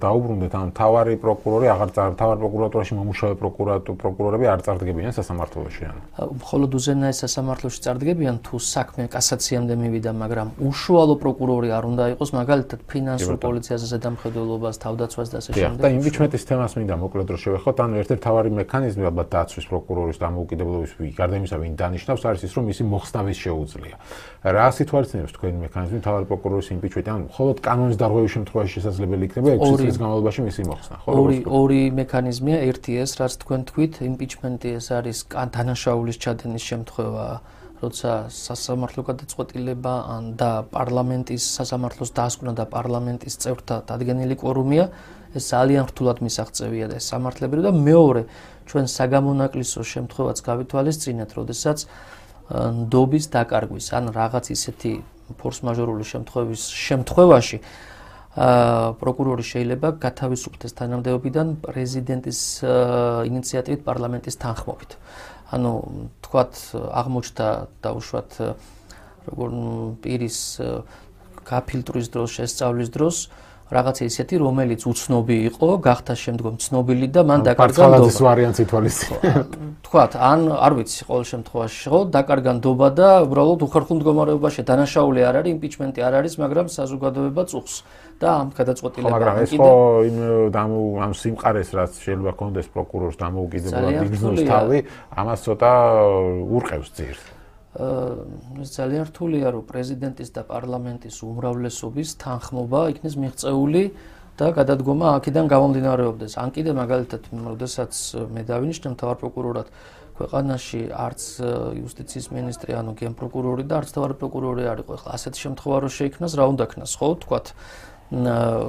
დაუბრუნდეთ, ანუ მთავარი პროკურორი მთავარ პროკურატურაში მომუშავე პროკურორები არ წარდგებიან სასამართლოში. მხოლოდ უზენაეს სასამართლოში წარდგებიან, თუ საქმე კასაციამდე მივიდა, მაგრამ უშუალო პროკურორი არ უნდა იყოს, მაგალითად ფინანსურ პოლიციაზე ზედამხედველობას, თავდაცვას და ასე შემდეგ. და იმპიჩმენტის თემას მინდა მოკლედ რომ შევეხოთ, ანუ ერთ-ერთი მთავარი მექანიზმი ალბათ დაცვის პროკურორის დამოუკიდებლობის გარდა იმისა, ვინ დანიშნავს, არის ის, რომ მისი მოხსნავის შეუძლია. რა სიტუაციებს თქვენი მექანიზმი მთავარი პროკურორის იმპიჩმენტი, ანუ მხოლოდ კანონის დარღვევის შემთხვევაში შესაძლებელი იქნება 6 წლის განმავლობაში მისი მოხსნა, ხო? ორი მექანიზმია, ერთი ეს, რაც თქვენ თქვით, იმპიჩმენტი ეს არის დანაშაულის ჩადენის შემთხვევა, როცა სასამართლო გადაწყვეტილება და პარლამენტის სასამართლოს დასკვნა და პარლამენტის წევრთა დადგენილი კვორუმია, ეს ძალიან რთულად მისაღწევია და ეს სამართლებრივი და მეორე, ჩვენ საგამონაკლისო შემთხვევაც გავითვალისწინეთ, როდესაც ნდობის დაკარგვის, ან რაღაც ისეთი ფორს-მაჟორული შემთხვევაში პროკურორი შეიძლება გათავისუფლდეს თანამდებობიდან პრეზიდენტის ინიციატივით პარლამენტის თანხმობით. ანუ თქვათ აღმოჩნდა დაუშვათ როგორ პირის გაფილტვის დროს, შესწავლის დროს რაღაცა ისეთი, რომელიც უცნობი იყო, გახდა შემდგომ ცნობილი და მან დაკარგა ნდობა. ფარცხალაძის ვარიანტი ითვალისწინებთ. თქვათ, ან არ ვიცი, ყოველ შემთხვევაში ხო, დაკარგა ნდობა და უბრალოდ უხერხულ მდგომარეობაში დანაშაული არ არის, იმპიჩმენტი არ არის, მაგრამ საზოგადოება წუხს და ამ გადაწყვეტილება. მაგრამ ეს ხო ამ სიმყარეს რაც შეიძლება კონდეს პროკურორს დამოუკიდებლად იგრძნოს თავი, ამას ცოტა ურყევს ძირს. ეს ძალიან რთულია, რომ პრეზიდენტის და პარლამენტის უმრავლესობის თანხმობა იქნეს მიღწეული და გადადგომა აქედან გამომდინარეობდეს. ან კიდე მაგალითად, როდესაც მე დავინიშნე მთავარ პროკურორად ქვეყანაში არც იუსტიციის მინისტრი, ანუ გენპროკურორი და არც მთავარი პროკურორი არ იყო. ეხლა ასეთი შემთხვევა რო შეიქმნას, რა უნდა ქნას, ხო, თქვათ,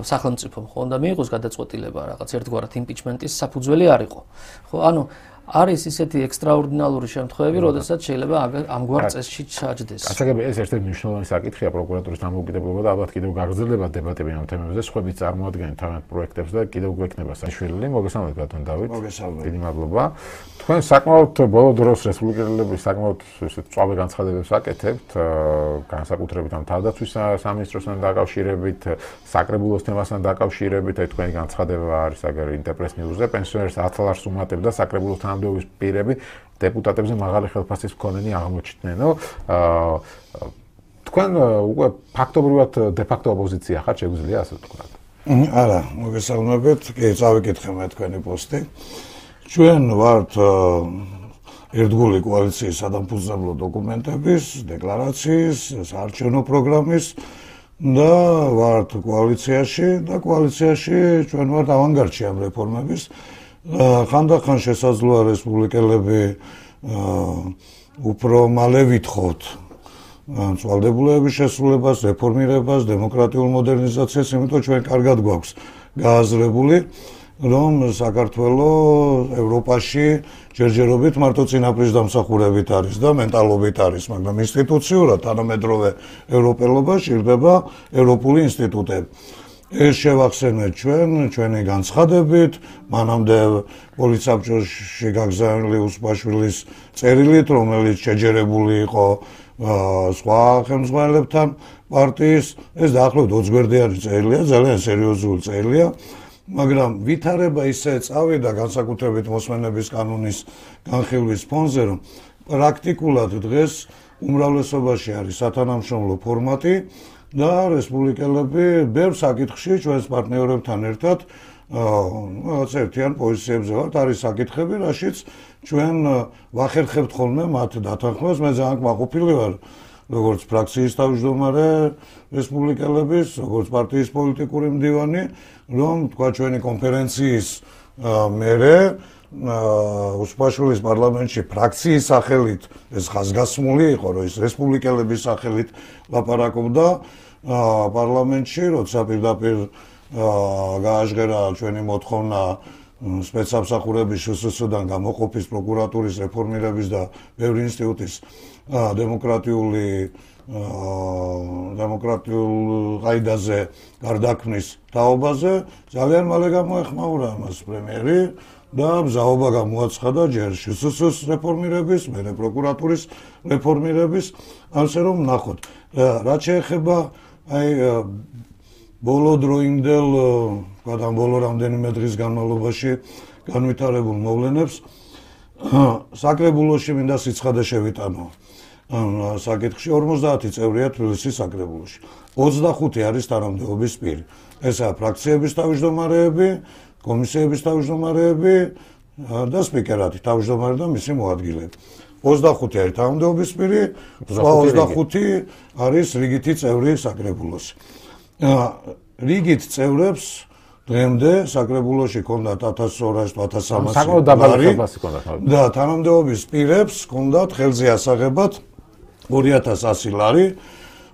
სახელმწიფომ ხო უნდა მიიღოს გადაწყვეტილება რაღაც ერთგვარად იმპიჩმენტის საფუძველი არ იყო. ხო, ანუ არის ისეთი ექსტრაორდინალური შემთხვევები, როდესაც შეიძლება ამგვარ წესში ჩაჯდეს. გასაგებია ეს ერთ-ერთი მნიშვნელოვანი საკითხია პროკურატურის დამოუკიდებლობა და ალბათ კიდევ გაგრძელდება დებატები ამ თემებზე, სხვაებიც წარმოადგენენ თავიანთ პროექტებს და კიდევ გვექნება საშუალება. მოგესალმებით ბატონ დავით. მოგესალმებით. დიდი მადლობა. თქვენ საკმაოდ ბოლო დროს რესპუბლიკელების საკმაოდ წვავე განცხადებებს აკეთებთ, განსაკუთრებით ამ თავდაცვის სამინისტროსთან დაკავშირებით, საკრებულოს თემასთან დაკავშირებით, აი თქვენი განცხადება არის აგერ ინტერპრეს ნიუზზე, პენსიონერს 10 ლარს უმატებდა საკრებულოს თანამდებობის პირები დეპუტატებზე მაღალი ხელფასის მქონენი აღმოჩნდნენო. თქვენ უკვე ფაქტობრივად დე-ფაქტო ოპოზიცია ხართ, შეგვიძლია ასე ვთქვათ? არა, მოგესალმებით. კი, წავიკითხე მე თქვენი პოსტი. ჩვენ ვართ ერთგული კოალიციის სადამფუძნებლო დოკუმენტების, დეკლარაციის, საარჩევნო პროგრამის და ვართ კოალიციაში და კოალიციაში ჩვენ ვართ ავანგარდში ამ რეფორმების. ხანდახან შესაძლოა რესპუბლიკელები უფრო მალე ვითხოვთ წვალდებულების შესრულებას, რეფორმირებას, დემოკრატიულ მოდერნიზაციას, იმიტომ ჩვენ კარგად გვაქვს გააზრებული, რომ საქართველოს ევროპაში ჯერჯერობით მარტო წინაპრის დამსახურებით არის და მენტალობით არის, მაგრამ ინსტიტუციურად თანამედროვე ევროპელობა ჭირდება ევროპული ინსტიტუტები. ეს შევახსენეთ ჩვენი განცხადებით, მანამდე პოლიცსაბჭოში გაგზავნილი უსპაშვილის წერილით, რომელიც შეჯერებული იყო სხვა ხელმძღვანელებთან პარტიის, ეს დაახლოებით 20 გვერდიანი წერილია, ძალიან სერიოზული წერილია, მაგრამ ვითარება ისე წავიდა განსაკუთრებით მოსმენების კანონის განხილვის ფონზე, რომ პრაქტიკულად დღეს უმრავლესობაში არის სათანამშრომლო ფორმატი და რესპუბლიკელები ბევრ საკითხში ჩვენს პარტნიორებთან ერთად რაღაც ერთიან პოზიციებზე ვართ. არის საკითხები, რაშიც ჩვენ ვახერხებთ ხოლმე მათ დათანხმებას. მე ძალიან კმაყოფილი ვარ, როგორც ფრაქციის თავმჯდომარე რესპუბლიკელების, როგორც პარტიის პოლიტიკური მდივანი, რომ თქვა ჩვენი კონფერენციის მერე უსპაშვილის პარლამენტში ფრაქციის სახელით ეს ხაზგასმული იყო, რომ ის რესპუბლიკელების სახელით ლაპარაკობდა პარლამენტში, როცა პირდაპირ გააჟღერა ჩვენი მოთხოვნა სპეცსამსახურების შსს-დან გამოყოფის პროკურატურის რეფორმირების და ბევრი ინსტიტუტის დემოკრატიულ ყაიდაზე გარდაქმნის თაობაზე ძალიან მალე გამოეხმაურა ამას პრემიერი და მზაობა გამოაცხადა ჯერ შსს რეფორმირების, მერე პროკურატურის რეფორმირების, ასე რომ ნახოთ. რაც შეეხება აი ბოლო დროინდელ, ვთქვათ, ბოლო რამდენიმე დღის განმავლობაში განვითარებულ მოვლენებს საკრებულოში მინდა სიცხადე შევიტანო. საკითხში 50 წევრია თბილისის საკრებულოში. 25 არის თანამდებობის პირი. ესაა ფრაქციების თავმჯდომარეები, კომისიების თავმჯდომარეები და სპიკერატი, თავმჯდომარე და მისი მოადგილეები. 25 არის თანამდებობის პირი, სხვა 25 არის რიგითი წევრი საკრებულოში. რიგით წევრებს დღემდე საკრებულოში ჰქონდათ 1200-1300 ლარი და თანამდებობის პირებს ჰქონდათ ხელზე ასაღებად 2100 ლარი.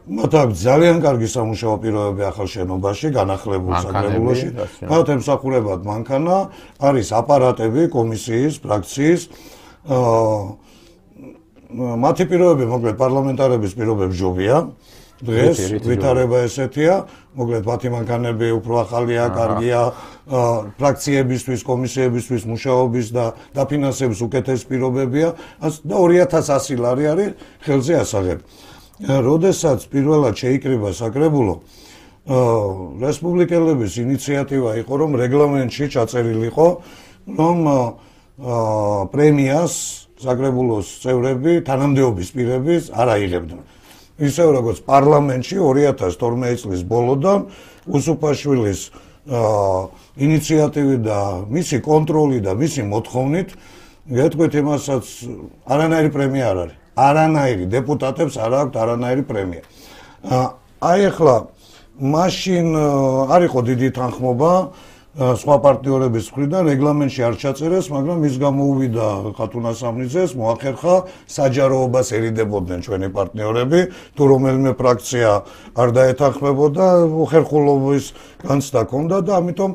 მათ აქვს ძალიან კარგი სამუშაო პირობები ახალ შენობაში, განახლებულ საკრებულოში. მათ ემსახურებათ მანქანა, არის აპარატები კომისიის, ფრაქციის. მათი პირობები, მოკლედ, პარლამენტარების პირობები ჯობია. დღეს ვითარება ესეთია, მოკლედ, მათი მანქანები უფრო ახალია, კარგია, ფრაქციებისთვის, კომისიებისთვის მუშაობის და დაფინანსების უკეთესი პირობებია და 2100 ლარი არის ხელზე ასაღები. როდესაც პირველად შეიკრიბა საკრებულო, რესპუბლიკელების ინიციატივა იყო, რომ რეგლამენტში ჩაწერილიყო, რომ პრემიას საკრებულოს წევრები თანამდებობის პირები არ აიღებდნენ. ისევ როგორც პარლამენტში 2012 წლის ბოლოდან უსუფაშვილის ინიციატივით და მისი კონტროლი და მისი მოთხოვნით გეტყვით იმასაც არანაირი პრემია არ არის. არანაირი დეპუტატებს არ აქვთ არანაირი პრემია. აი ახლა მაშინ არ იყო დიდი თანხმობა სხვა პარტნიორების მხრიდან რეგლამენტში არ ჩაწერეს, მაგრამ ის გამოუვიდა ხათუნა სამნიძეს, მოახერხა საჯაროობას ერიდებოდნენ ჩვენი პარტნიორები, თუ რომელიმე ფრაქცია არ დაეთანხმებოდა, უხერხულობის განცდა ჰქონდა და ამიტომ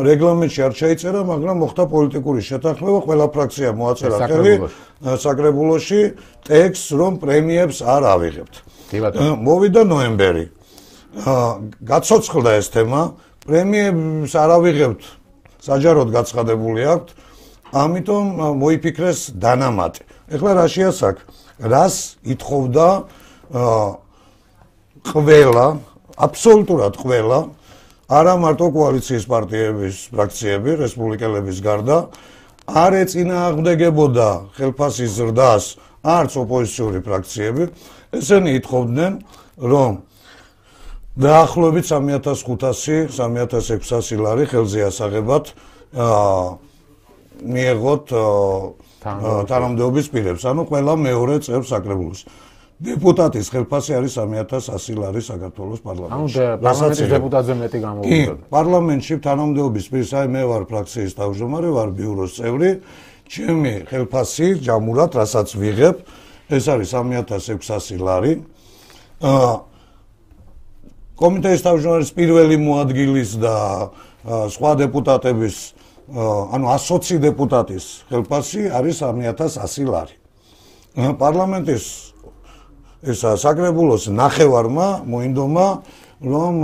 რეგლამენტში არ ჩაიწერა, მაგრამ მოხდა პოლიტიკური შეთანხმება, ყველა ფრაქცია მოაწერა ხელი საკრებულოში ტექსტს, რომ პრემიებს არ ავიღებთ. მოვიდა ნოემბერი. გაცოცხლდა ეს თემა, პრემიებს არ ავიღებთ, საჯაროდ გაცხადებული აქვთ, ამიტომ მოიფიქრეს დანამატი. ეხლა რა შეასაკ, რას ითხოვდა ყველა, აბსოლუტურად ყველა, არა მარტო კოალიციის პარტიების ფრაქციები, რესპუბლიკელების გარდა, არ ეწინააღმდეგებოდა ხელფასის ზრდას არც ოპოზიციური ფრაქციები, ესენი ითხოვდნენ, რომ დაახლოებით 3500-3600 ლარი ხელზე ასაღებად მიეღოთ თანამდებობის პირებს, ანუ ყველა მეორე წევრ საკრებულოს. დეპუტატის ხელფასი არის 3100 ლარი საქართველოს პარლამენტში. ანუ პარლამენტის დეპუტატზე მეტი გამოვიდა. პარლამენტში თანამდებობის პირს, აი მე ვარ ფრაქციის თავმჯდომარე, ვარ ბიუროს წევრი, ჩემი ხელფასი ჯამურად, რასაც ვიღებ, ეს არის 3600 ლარი. კომიტეტის თავმჯდომარის პირველი მოადგილის და სხვა დეპუტატების, ანუ 120 დეპუტატის ხელფასი არის 3100 ლარი. პარლამენტის ესა საკრებულოს ნახევარმა მოინდომა, რომ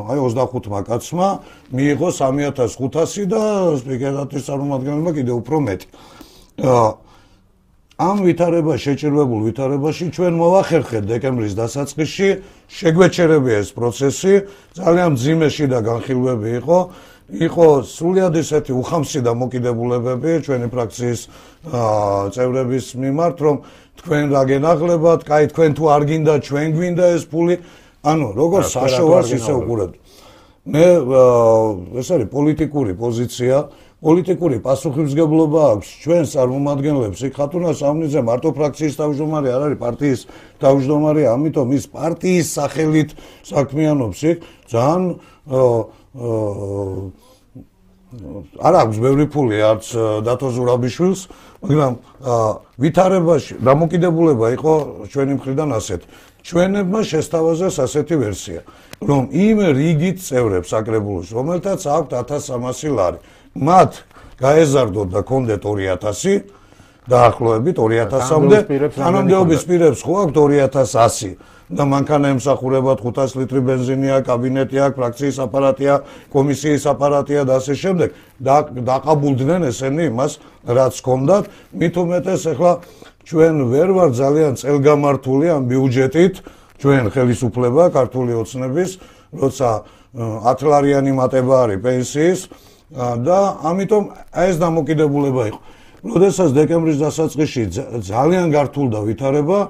აი 25-მა კაცმა მიიღო 3500 და სპიკერატის წარმომადგენელმა კიდევ უფრო მეტი. ამ ვითარებაში, შეჭირებულ ვითარებაში ჩვენ მოვახერხეთ დეკემბრის დასაწყისში, შეგვეჩერებია ეს პროცესი, ძალიან მძიმეში და განხილვები იყო სრულიად ესეთი უხამსი დამოკიდებულებები ჩვენი ფრაქციის წევრების მიმართ, რომ თქვენ რა გენაღლებათ, კაი თქვენ თუ არ გინდა, ჩვენ გვინდა ეს ფული, ანუ როგორ საშოვარს ისე უყურებთ. მე ეს არის პოლიტიკური პოზიცია, პოლიტიკური პასუხისმგებლობა აქვს ჩვენს წარმომადგენლებს. იქ ხათუნა სამნიძე მარტო ფრაქციის თავმჯდომარე არ არის, პარტიის თავმჯდომარე, ამიტომ ის პარტიის სახელით საქმიანობს იქ. ძალიან არ აქვს ბევრი ფული არც დათო ზურაბიშვილს, მაგრამ ვითარებაში დამოკიდებულება იყო ჩვენი მხრიდან ასეთ. ჩვენებმა შესთავაზეს ასეთი ვერსია, რომ იმ რიგით წევრებს საკრებულოს, რომელთაც აქვთ 1300 ლარი, მათ გაეზარდოთ და კონდეთ 2000, დაახლოებით 2000-მდე, თანამდებობის პირებს ხო აქვთ 2100 და მანქანა ემსახურებათ 500 ლიტრი ბენზინია, კაბინეტი აქვს, ფრაქციის აპარატია, კომისიის აპარატია და ასე შემდეგ. დაყაბულდნენ ესენი იმას, რაც ჰქონდათ, მით უმეტეს ახლა ჩვენ ვერ ვარ ძალიან წელგამართული ამ ბიუჯეტით, ჩვენ ხელისუფლება ქართული ოცნების, როცა 10 ლარიანი მატება არის პენსიის და ამიტომ ეს დამოკიდებულება იყო. როდესაც დეკემბრის დასაწყისში ძალიან გართულდა ვითარება,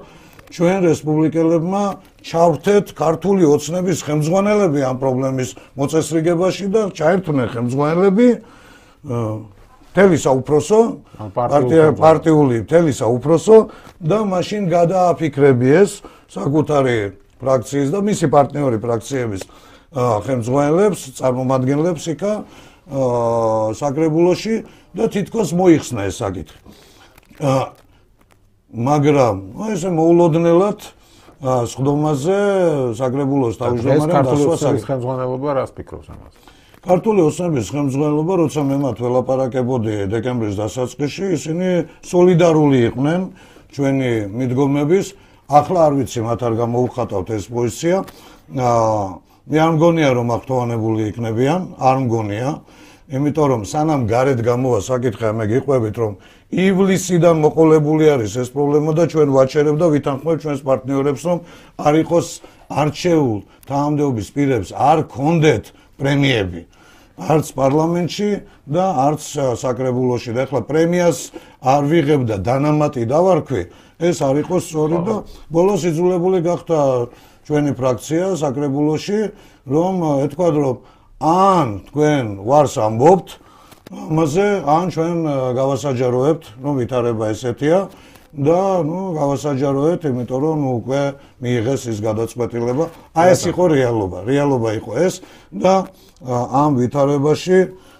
ჩვენ რესპუბლიკელებმა ჩავთეთ ქართული ოცნების ხელმძღვანელები ამ პრობლემის მოწესრიგებაში და ჩაერთვნენ ხელმძღვანელები მთელი საუფროსო, პარტიული მთელი საუფროსო და მაშინ გადააფიქრებიეს საკუთარი ფრაქციის და მისი პარტნიორი ფრაქციების ხელმძღვანელებს, წარმომადგენლებს იქა საკრებულოში და თითქოს მოიხსნა ეს საკითხი. მაგრამ ესე მოულოდნელად სხდომაზე საკრებულოს თავმჯდომარემ დასვა საკითხი. ხელმძღვანელობა რას ფიქრობს ამაზე? ქართული ოცნების ხელმძღვანელობა, როცა მე მათ ველაპარაკებოდი დეკემბრის დასაწყისში, ისინი სოლიდარული იყვნენ ჩვენი მიდგომების. ახლა არ ვიცი, მათ არ გამოუხატავთ ეს პოზიცია. მე არ მგონია, რომ აქტოვანებული იქნებიან, არ მგონია. იმიტომ რომ სანამ გარეთ გამოვა საკითხი, მე გიყვებით რომ ივლისიდან მოყოლებული არის ეს პრობლემა და ჩვენ ვაჩერებ და ვითანხმობ ჩვენს პარტნიორებს რომ არ იყოს არჩეულ თანამდებობის პირებს არ კონდეთ პრემიები არც პარლამენტში და არც საკრებულოში და ახლა პრემიას არ ვიღებ და დანამატი დავარქვი ეს არ იყოს სწორი და ბოლოს იძულებული გახდა ჩვენი ფრაქცია საკრებულოში რომ ეთქვათ რომ ან თქვენ ვარს ამბობთ ამაზე ან ჩვენ გავასაჯაროებთ რომ ვითარება ესეთია და გავასაჯაროებთ იმიტომ რომ უკვე მიიღეს ის გადაწყვეტილება აი ეს იყო რეალობა იყო ეს და ამ ვითარებაში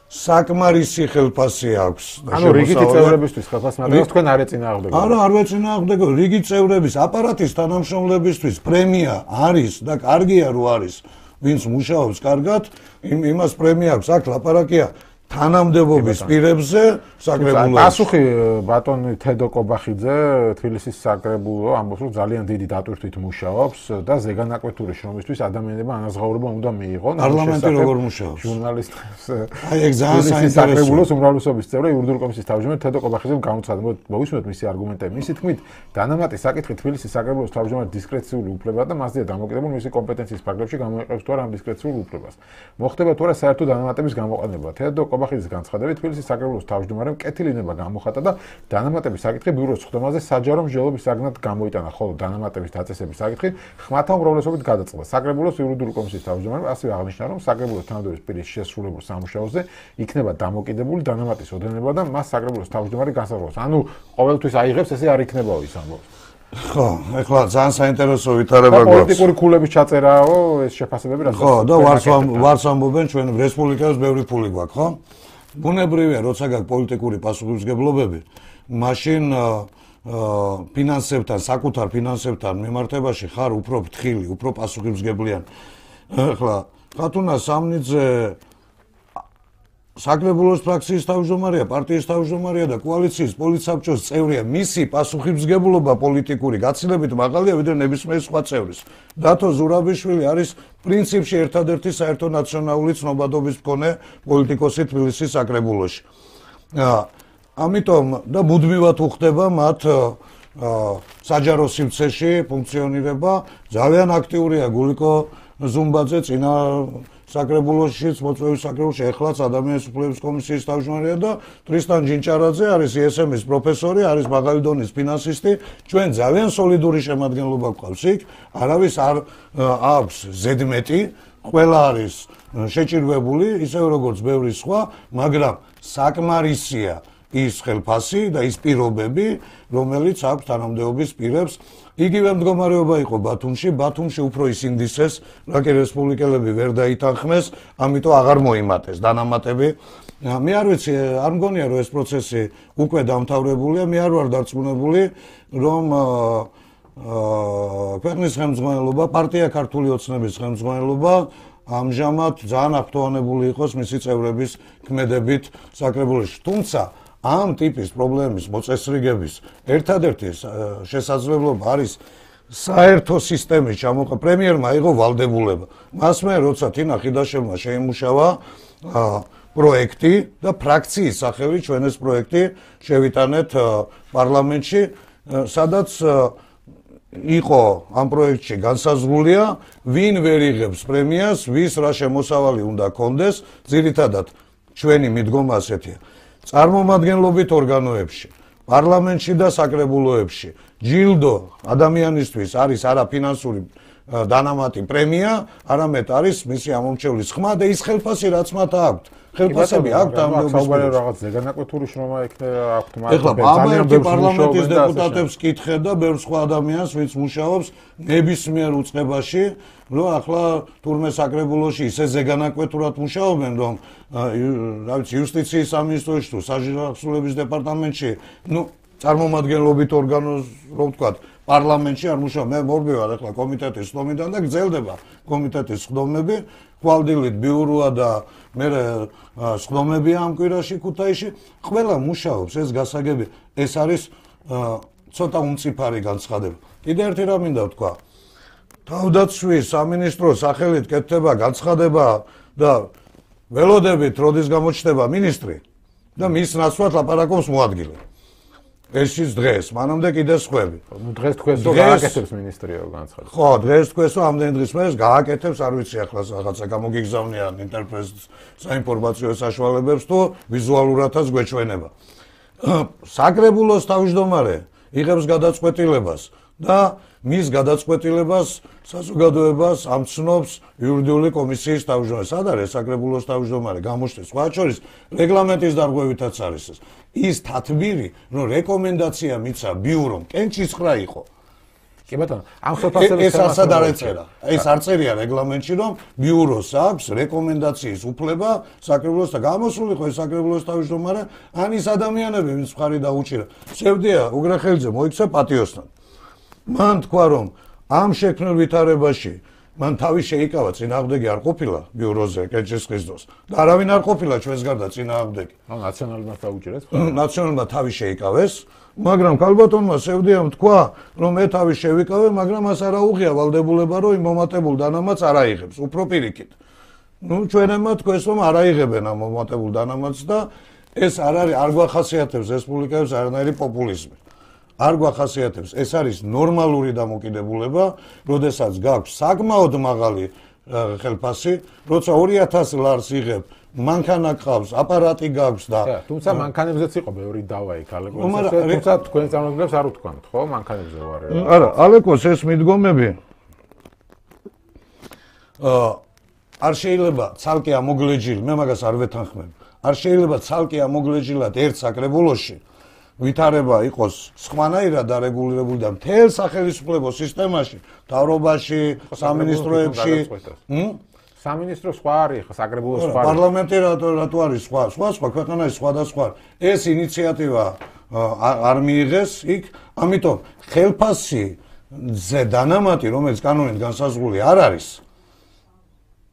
საკმარისი ხელფასი აქვს ანუ რიგითი წევრებისთვის ხელფასი მაგრამ თქვენ არ ეწინააღმდეგებთ არა არ ვეწინააღმდეგებ რიგი წევრების აპარატის თანამშრომლებისთვის პრემია არის და კარგია რო არის ვინც მუშაობს კარგად იმას პრემია აქვს აქ ლაპარაკია თანამდებობის პირებზე საკრებულოში. პასუხი ბატონი თედო კობახიძე თბილისის საკრებულო ამბობს რომ ძალიან დიდი დატვირთვით მუშაობს და ზეგანაკვეთური შრომისთვის ადამიანებმა ანაზღაურება უნდა მიიღონ. პარლამენტი როგორ მუშაობს? ჟურნალისტებს. აი ეგ ძალიან საინტერესოა. საკრებულოს უმრავლესობის წევრი იურიდიული კომისიის თავმჯდომარე თედო კობახიძემ გამოცხადა. მოვისმენთ მისი არგუმენტები. მისი თქმით, დანამატი საკითხი თბილისის საკრებულოს თავმჯდომარის დისკრეციული უფლება და მასზეა დამოკიდებული მისი კომპეტენციის ფარგლებში გამოიყენებს თუ არა ამ დისკრეციულ უფლებას. მოხდება თუ არა საერთო დანამატების გამოყენება. თედო კობახიძის განცხადებით თბილისის საკრებულოს თავმჯდომარემ კეთილინება გამოხატა და დანამატების საკითხი ბიუროს სხდომაზე საჯარო მსჯელობის საგნად გამოიტანა, ხოლო დანამატების დაწესების საკითხი ხმათა უმრავლესობით გადაწყდა. საკრებულოს იურიდიული კომისიის თავმჯდომარემ ასევე აღნიშნა, რომ საკრებულოს თანამდებობის პირის შესრულებულ სამუშაოზე იქნება დამოკიდებული დანამატის ოდენება და მას საკრებულოს თავმჯდომარე განსაზღვრავს. ანუ ყოველთვის აიღებს, ესე არ იქნებაო ის ამბობს. ხო, ეხლა ძალიან საინტერესო ვითარება გვაქვს. პოლიტიკური ქულების ჩაწერაო, ეს შეფასებები რა. ხო, და ვარს ამბობენ ჩვენ რესპუბლიკას ბევრი ფული გვაქვს, ხო? ბუნებრივია, როცა გაქვს პოლიტიკური პასუხისმგებლობები, მაშინ ფინანსებთან, საკუთარ ფინანსებთან მიმართებაში ხარ უფრო ფრთხილი, უფრო პასუხისმგებლიანი. ახლა ხათუნა სამნიძე საკრებულოს ფრაქციის თავმჯდომარეა, პარტიის თავმჯდომარეა და კოალიციის პოლიტსაბჭოს წევრია. მისი პასუხისმგებლობა პოლიტიკური გაცილებით მაღალია ვიდრე ნებისმიერ სხვა წევრის. დათო ზურაბიშვილი არის პრინციპში ერთადერთი საერთო ნაციონალური ცნობადობის მქონე პოლიტიკოსი თბილისის საკრებულოში. ამიტომ და მუდმივად უხდება მათ საჯარო სივრცეში ფუნქციონირება. ძალიან აქტიურია გულიკო ზუმბაძე წინა საკრებულოშიც მოწვევის საკრებულოში ეხლაც ადამიანის უფლებების კომისიის თავმჯდომარეა და ტრისტან ჯინჭარაძე არის ISM-ის პროფესორი, არის მაღალი დონის ფინანსისტი. ჩვენ ძალიან სოლიდური შემადგენლობა გვყავს იქ, არავის არ აქვს ზედმეტი, ყველა არის შეჭირვებული, ისევე როგორც ბევრი სხვა, მაგრამ საკმარისია ის ხელფასი და ის პირობები, რომელიც აქვს თანამდებობის პირებს. იგივე მდგომარეობა იყო ბათუმში, ბათუმში უფრო ის ინდისეს, რაკი რესპუბლიკელები ვერ დაითანხმეს, ამიტომ აღარ მოიმატეს დანამატები. მე არ ვიცი, არ მგონია რომ ეს პროცესი უკვე დამთავრებულია, მე არ ვარ დარწმუნებული, რომ ქვეყნის ხელმძღვანელობა, პარტია ქართული ოცნების ხელმძღვანელობა ამჟამად ძალიან აქტუალებული იყოს მისი წევრების ქმედებით საკრებულოში. თუმცა ამ ტიპის პრობლემის მოწესრიგების ერთადერთი შესაძლებლობა არის საერთო სისტემის ჩამოყალიბება. პრემიერმა აიღო ვალდებულება. მასმე როცა თინა ხიდაშვილმა შეიმუშავა პროექტი და ფრაქციის სახელი ჩვენ ეს პროექტი შევიტანეთ პარლამენტში, სადაც იყო ამ პროექტში განსაზღვრულია, ვინ ვერ იღებს პრემიას, ვის რა შემოსავალი უნდა კონდეს, ძირითადად ჩვენი მიდგომა ასეთია. წარმომადგენლობით ორგანოებში, პარლამენტში და საკრებულოებში ჯილდო ადამიანისთვის არის არა ფინანსური დანამატი პრემია, არამედ არის მისი ამომრჩევლის ხმა და ის ხელფასი რაც მათ აქვთ. ხელფასები აქვთ თანამდებობის პირებს. რაღაც ზეგანაკვეთური შრომა იქნება აქვთ მათ. ეხლა ამერიკი პარლამენტის დეპუტატებს კითხე და ბევრ სხვა ადამიანს, ვინც მუშაობს ნებისმიერ უწყებაში, რომ ახლა თურმე საკრებულოში ისე ზეგანაკვეთურად მუშაობენ, რომ რა ვიცი, იუსტიციის სამინისტროში თუ საჯაროების დეპარტამენტში, წარმომადგენლობით ორგანოს, რომ ვთქვათ, პარლამენტში არ მუშაობ. მე მორბევარ ახლა კომიტეტის სხდომიდან და გრძელდება კომიტეტის სხდომები, ხვალდილით ბიუროა და მე სხდომებია ამ კვირაში ქუთაისში. ყველა მუშაობს, ეს გასაგები, ეს არის ცოტა უმწიფარი განცხადება. კიდე ერთი რამ მინდა ვთქვა. თავდაცვის სამინისტროს სახელით კეთდება განცხადება და ველოდებით როდის გამოჩნდება მინისტრი და მის ნაცვლად ლაპარაკობს მოადგილე. ეს დღეს, მანამდე კიდე სხვები. დღეს თქვენს რომ გააკეთებს მინისტრიო განცხადებას. ხო, დღეს თქვენს რომ ამდენი დღის მერე გააკეთებს, არ ვიცი ახლა რაღაცა გამოგიგზავნიან ინტერპრეტს საინფორმაციო საშუალებებს თუ ვიზუალურადაც გვეჩვენება. საკრებულოს თავმჯდომარე იღებს გადაწყვეტილებას და მის გადაწყვეტილებას საზოგადოებას ამცნობს იურიდიული კომისიის თავმჯდომარე. სად არის საკრებულოს თავმჯდომარე? გამოჩნდეს სხვა შორის რეგლამენტის დარღვევითაც არის ეს. ის თათბირი, რომ რეკომენდაცია მიცა ბიურომ, კენჭისხრა იყო. კი ბატონო, ამ სოფასების ეს ასად არ ეწერა. ეს არ წერია რეგლამენტში, რომ ბიუროს აქვს რეკომენდაციის უფლება საკრებულოს და გამოსული ხო ეს საკრებულოს თავმჯდომარე, ან ის ადამიანები, ვინც მხარი დაუჭირა. სევდია უგრახელიძე მოიქცა პატიოსთან. მან თქვა რომ ამ შექმნილ ვითარებაში მან თავი შეიკავა, წინააღმდეგი არ ყოფილა ბიუროზე კენჭისყრის დროს და არავინ არ ყოფილა ჩვენს გარდა წინააღმდეგი. ნაციონალურმა დაუჭირეს. ნაციონალურმა თავი შეიკავეს, მაგრამ ქალბატონმა სევდიამ თქვა, რომ მე თავი შევიკავე, მაგრამ მას არ აუღია ვალდებულება, რომ იმ მომატებულ დანამატს არ აიღებს, უფრო პირიქით. ჩვენებმა თქვენს რომ არ აიღებენ ამ მომატებულ დანამატს და ეს არ არის, არ გვახასიათებს რესპუბლიკայებს არანაირი პოპულიზმი. არ გვახასიათებს, ეს არის ნორმალური დამოკიდებულება, როდესაც გაქვს საკმაოდ მაღალი ხელფასი, როცა 2000 ლარს იღებ, მანქანა ყავს, აპარატი გაქვს და თუმცა მანქანებზეც იყო ბევრი დავა იქ ალეკოს. თუმცა თქვენ წარმოგიდგენთ არ უთქვამთ, ხო, მანქანებზე ვარ. არა, ალეკოს ეს მიდგომები არ შეიძლება ცალკე ამოგლეჯილ, მე მაგას არ ვეთანხმებ. არ შეიძლება ცალკე ამოგლეჯილად ერთ საკრებულოში ვითარება იყოს სხვანაირად დარეგულირებული და მთელ სახელმწიფო სისტემაში, მთავრობაში, სამინისტროებში, სამინისტრო სხვა არის, საკრებულო სხვა. პარლამენტი რატო არის სხვა? სხვა ქვეყანაში სხვადასხვა. ეს ინიციატივა არ მიიღეს იქ, ამიტომ ხელფასზე დანამატი, რომელიც კანონით განსაზღვრული არ არის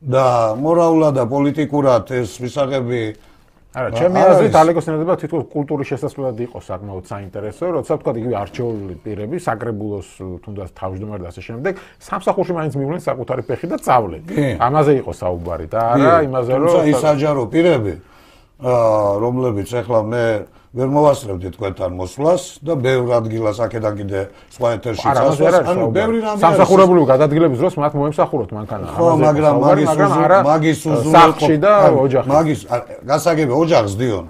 და მორალურად და პოლიტიკურად ეს მისაღები არა, ჩემი აზრით ალეკოს ნებდება თითქოს კულტურის შესაძლებლად იყო საკმაოდ საინტერესო, როცა თქვა იგივე არჩეული პირები, საკრებულოს თუნდაც თავმჯდომარე და ასე შემდეგ, სამსახურში მაინც მივლენ საკუთარი ფეხი და წავლენ. ამაზე იყო საუბარი და არა იმაზე, რომ თუმცა ის საჯარო პირები, რომლებიც ახლა მე ვერ მოვასწრებდი თქვენთან მოსვლას და ბევრ ადგილას აქედან კიდე სხვა ეთერში წასვლას, ანუ ბევრი რამე სამსახურებრივი გადადგილების დროს მათ მოემსახუროთ მანქანა. ხო, მაგრამ მაგის სახლში და ოჯახში. მაგის გასაგები ოჯახს დიონ.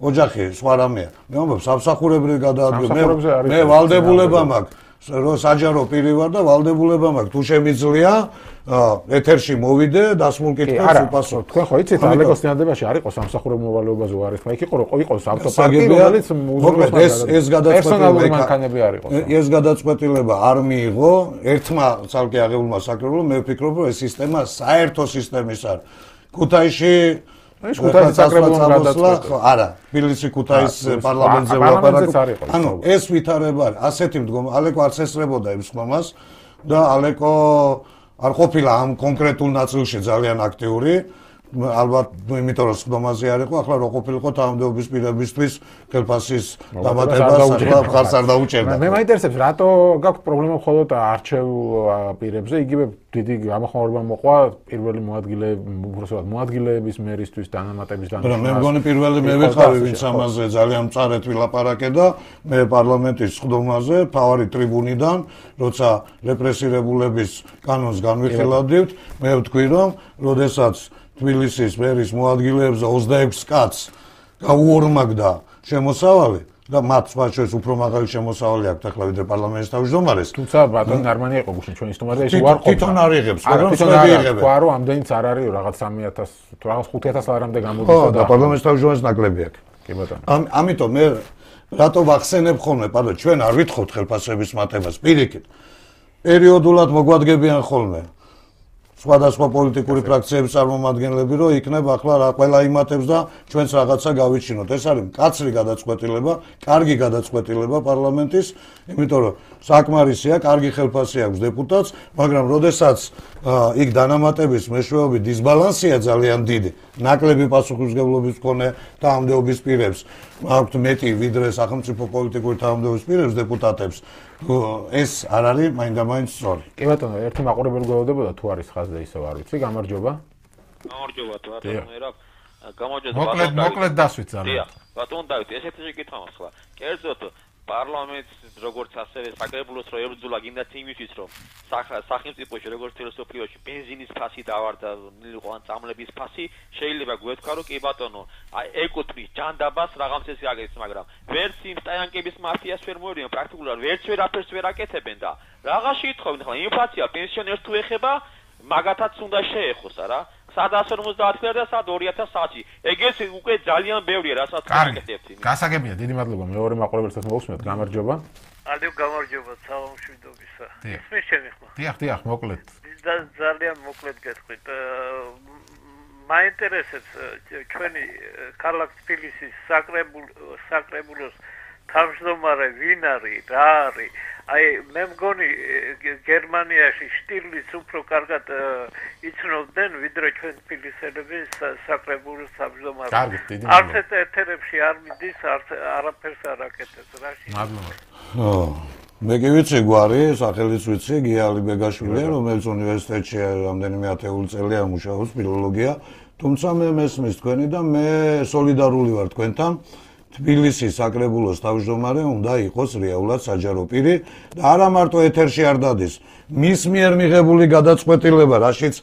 ოჯახი სხვა რამეა. მე ვამბობ სამსახურებრივი გადადგილება. მე ვალდებულება მაქვს, რომ საჯარო პირი ვარ და ვალდებულება მაქვს, თუ შემიძლია ეთერში მოვიდე, დასმულ კითხვებს უპასუხო. თქვენ ხო იცით, ალეკოს ნიადებაში არ იყო სამსახურებრივ მოვალეობაზე უარესმა, იქ იყო ავტოპარკი, რომელიც ეს პერსონალური მანქანები არ იყო. ეს გადაწყვეტილება არ მიიღო ერთმა ცალკე აღებულმა საკრებულომ, მე ვფიქრობ, რომ ეს სისტემა საერთო სისტემის არის. ქუთაისში ეს ქუთაისის საკრებულომ გადაწყვეტა. არა, თბილისი ქუთაის პარლამენტზე ვლაპარაკობ. ანუ ეს ვითარება არის, ასეთი მდგომა, ალეკო არც ესწრებოდა იმ ხმამას და ალეკო არ ყოფილა ამ კონკრეტულ ნაწილში ძალიან აქტიური, ალბათ იმიტომ რომ ხმამაზე არ იყო, ახლა რო ყოფილიყო თანამდებობის პირებისთვის ხელფასის დამატებას ახლა ხარს არ დაუჭერდა. მე მაინტერესებს, რატო გაქვს პრობლემა მხოლოდ არჩეულ პირებზე, იგივე დიდი გამოხმაურება მოყვა პირველი მოადგილეების მერისთვის დანამატების დანიშნულებას. მე მგონი პირველი მე ვიყავი, ვინც ამაზე ძალიან მწარედ ვილაპარაკე და მე პარლამენტის სხდომაზე, მთავარი ტრიბუნიდან, როცა რეპრესირებულების კანონს განვიხილავდით, მე ვთქვი რომ, როდესაც თბილისის მერის მოადგილეებზე 26 კაცს გაუორმაგდა შემოსავალი და მათ სხვა შორის უფრო მაღალი შემოსავალი აქვთ ახლა ვიდრე პარლამენტის თავმჯდომარეს. თუმცა ბატონი ნარმანი იყო გუშინ ჩვენი სტუმარია, ის უარყოფა. თვითონ არ იღებს, მაგრამ სხვები იღებენ. ხო, რომ ამდენიც არ არის, რაღაც 3000, თუ რაღაც 5000 ლარამდე გამოდიოდა. და პარლამენტის თავმჯდომარეს ნაკლები აქვს. კი ბატონო. ამიტომ მე რატო ვახსენებ ხოლმე, პარლო, ჩვენ არ ვითხოვთ ხელფასების მატებას, პირიქით. პერიოდულად მოგვადგებიან ხოლმე. სხვადასხვა პოლიტიკური ფრაქციების წარმომადგენლები, რომ იქნებ ახლა რა ყველა იმატებს და ჩვენც რაღაცა გავიჩინოთ. ეს არის მკაცრი გადაწყვეტილება, კარგი გადაწყვეტილება პარლამენტის, იმიტომ რომ საკმარისია, კარგი ხელფასი აქვს დეპუტატს, მაგრამ როდესაც იქ დანამატების მეშვეობით დისბალანსია ძალიან დიდი, ნაკლები პასუხისმგებლობის მქონე თანამდებობის პირებს აქვთ მეტი ვიდრე სახელმწიფო პოლიტიკური თანამდებობის პირებს დეპუტატებს. ეს არ არის მაინდა-მაინც სწორი. კი ბატონო, ერთი მაყურებელი გვეუბნებოდა თუ არის ხაზზე ისევ არ ვიცი, გამარჯობა. გამარჯობა, ბატონო, მოკლედ დასვით ძალიან. ბატონ დავით, ესეთი შეკითხვა მაქვს ხლა. კერძოდ პარლამენტს როგორც ასევე საკრებულოს რო ებრძოლა გინდათ იმისთვის რომ სახელმწიფოში როგორც ფილოსოფიაში ბენზინის ფასი დავარდა იყო ან წამლების ფასი შეიძლება გვეთქვა რომ კი ბატონო ეკუთვნის ჯანდაბას რაღაც წესი აგეს მაგრამ ვერც იმ სტაიანკების მაფიას ვერ მოერიან პრაქტიკულად ვერც ვერაფერს ვერ აკეთებენ და რაღაცი ითხოვენ ხლა ინფლაცია პენსიონერს თუ ეხება მაგათაც უნდა შეეხოს არა 150 და 2100-ში. ეგეც უკვე ძალიან ბევრია, რასაც გაკეთებთ. გასაგებია, დიდი მადლობა. მეორე მაყურებელსაც მოვუსმენთ, გამარჯობა. ალევ გამარჯობა, სალამშვიდობისა. ისმის შემიხმა. დიახ, მოკლედ. ძალიან მოკლედ გეტყვით. მაინტერესებს ჩვენი ქალაქ თბილისის საკრებულოს თავმჯდომარე ვინ არის, რა არის? აი მე მგონი გერმანიაში შტირლიც უფრო კარგად იცნობდნენ ვიდრე ჩვენ თბილისელები საკრებულოს თავმჯდომარეს. კარგით, დიდი მადლობა. არც ეთერებში არ მიდის, არაფერს არ აკეთებს, რაში. მადლობა. მე კი ვიცი გვარი, სახელიც ვიცი, გია ალიბეგაშვილია, რომელიც უნივერსიტეტში რამდენიმე ათეული წელია მუშაობს ფილოლოგია, თუმცა მე მესმის თქვენი და მე სოლიდარული ვარ თქვენთან. თბილისის საკრებულოს თავმჯდომარე უნდა იყოს რეალურად საჯარო პირი და არა მარტო ეთერში არ დადის. მის მიერ მიღებული გადაწყვეტილება, რაშიც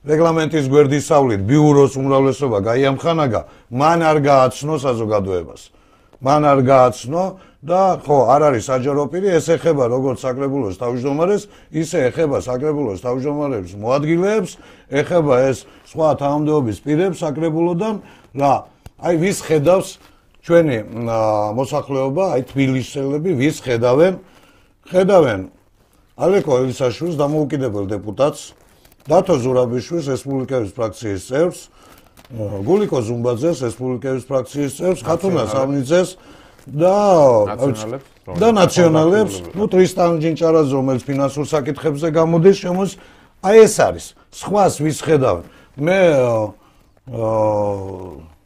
რეგლამენტის გვერდისავლით ბიუროს უმრავლესობა გაიამხანაგა, მან არ გააცნო საზოგადოებას. მან არ გააცნო და ხო, არ არის საჯარო პირი, ეს ეხება როგორც საკრებულოს თავმჯდომარეს, ისე ეხება საკრებულოს თავმჯდომარების მოადგილეებს, ეხება ეს სხვა თანამდებობის პირებს საკრებულოდან რა აი ვის ხედავს ჩვენი მოსახლეობა, აი თბილისელები ვის ხედავენ ალეკო ელისაშვილს დამოუკიდებელ დეპუტატს, დათო ზურაბიშვილს რესპუბლიკების ფრაქციის წევრს, გულიკო ზუმბაძეს რესპუბლიკების ფრაქციის წევრს, ხათუნა სამნიძეს და ნაციონალებს, ნუ ტრისტან ჯინჭარაძე, რომელიც ფინანსურ საკითხებზე გამოდის, შემოს აი ეს არის. სხვას ვის ხედავენ? მე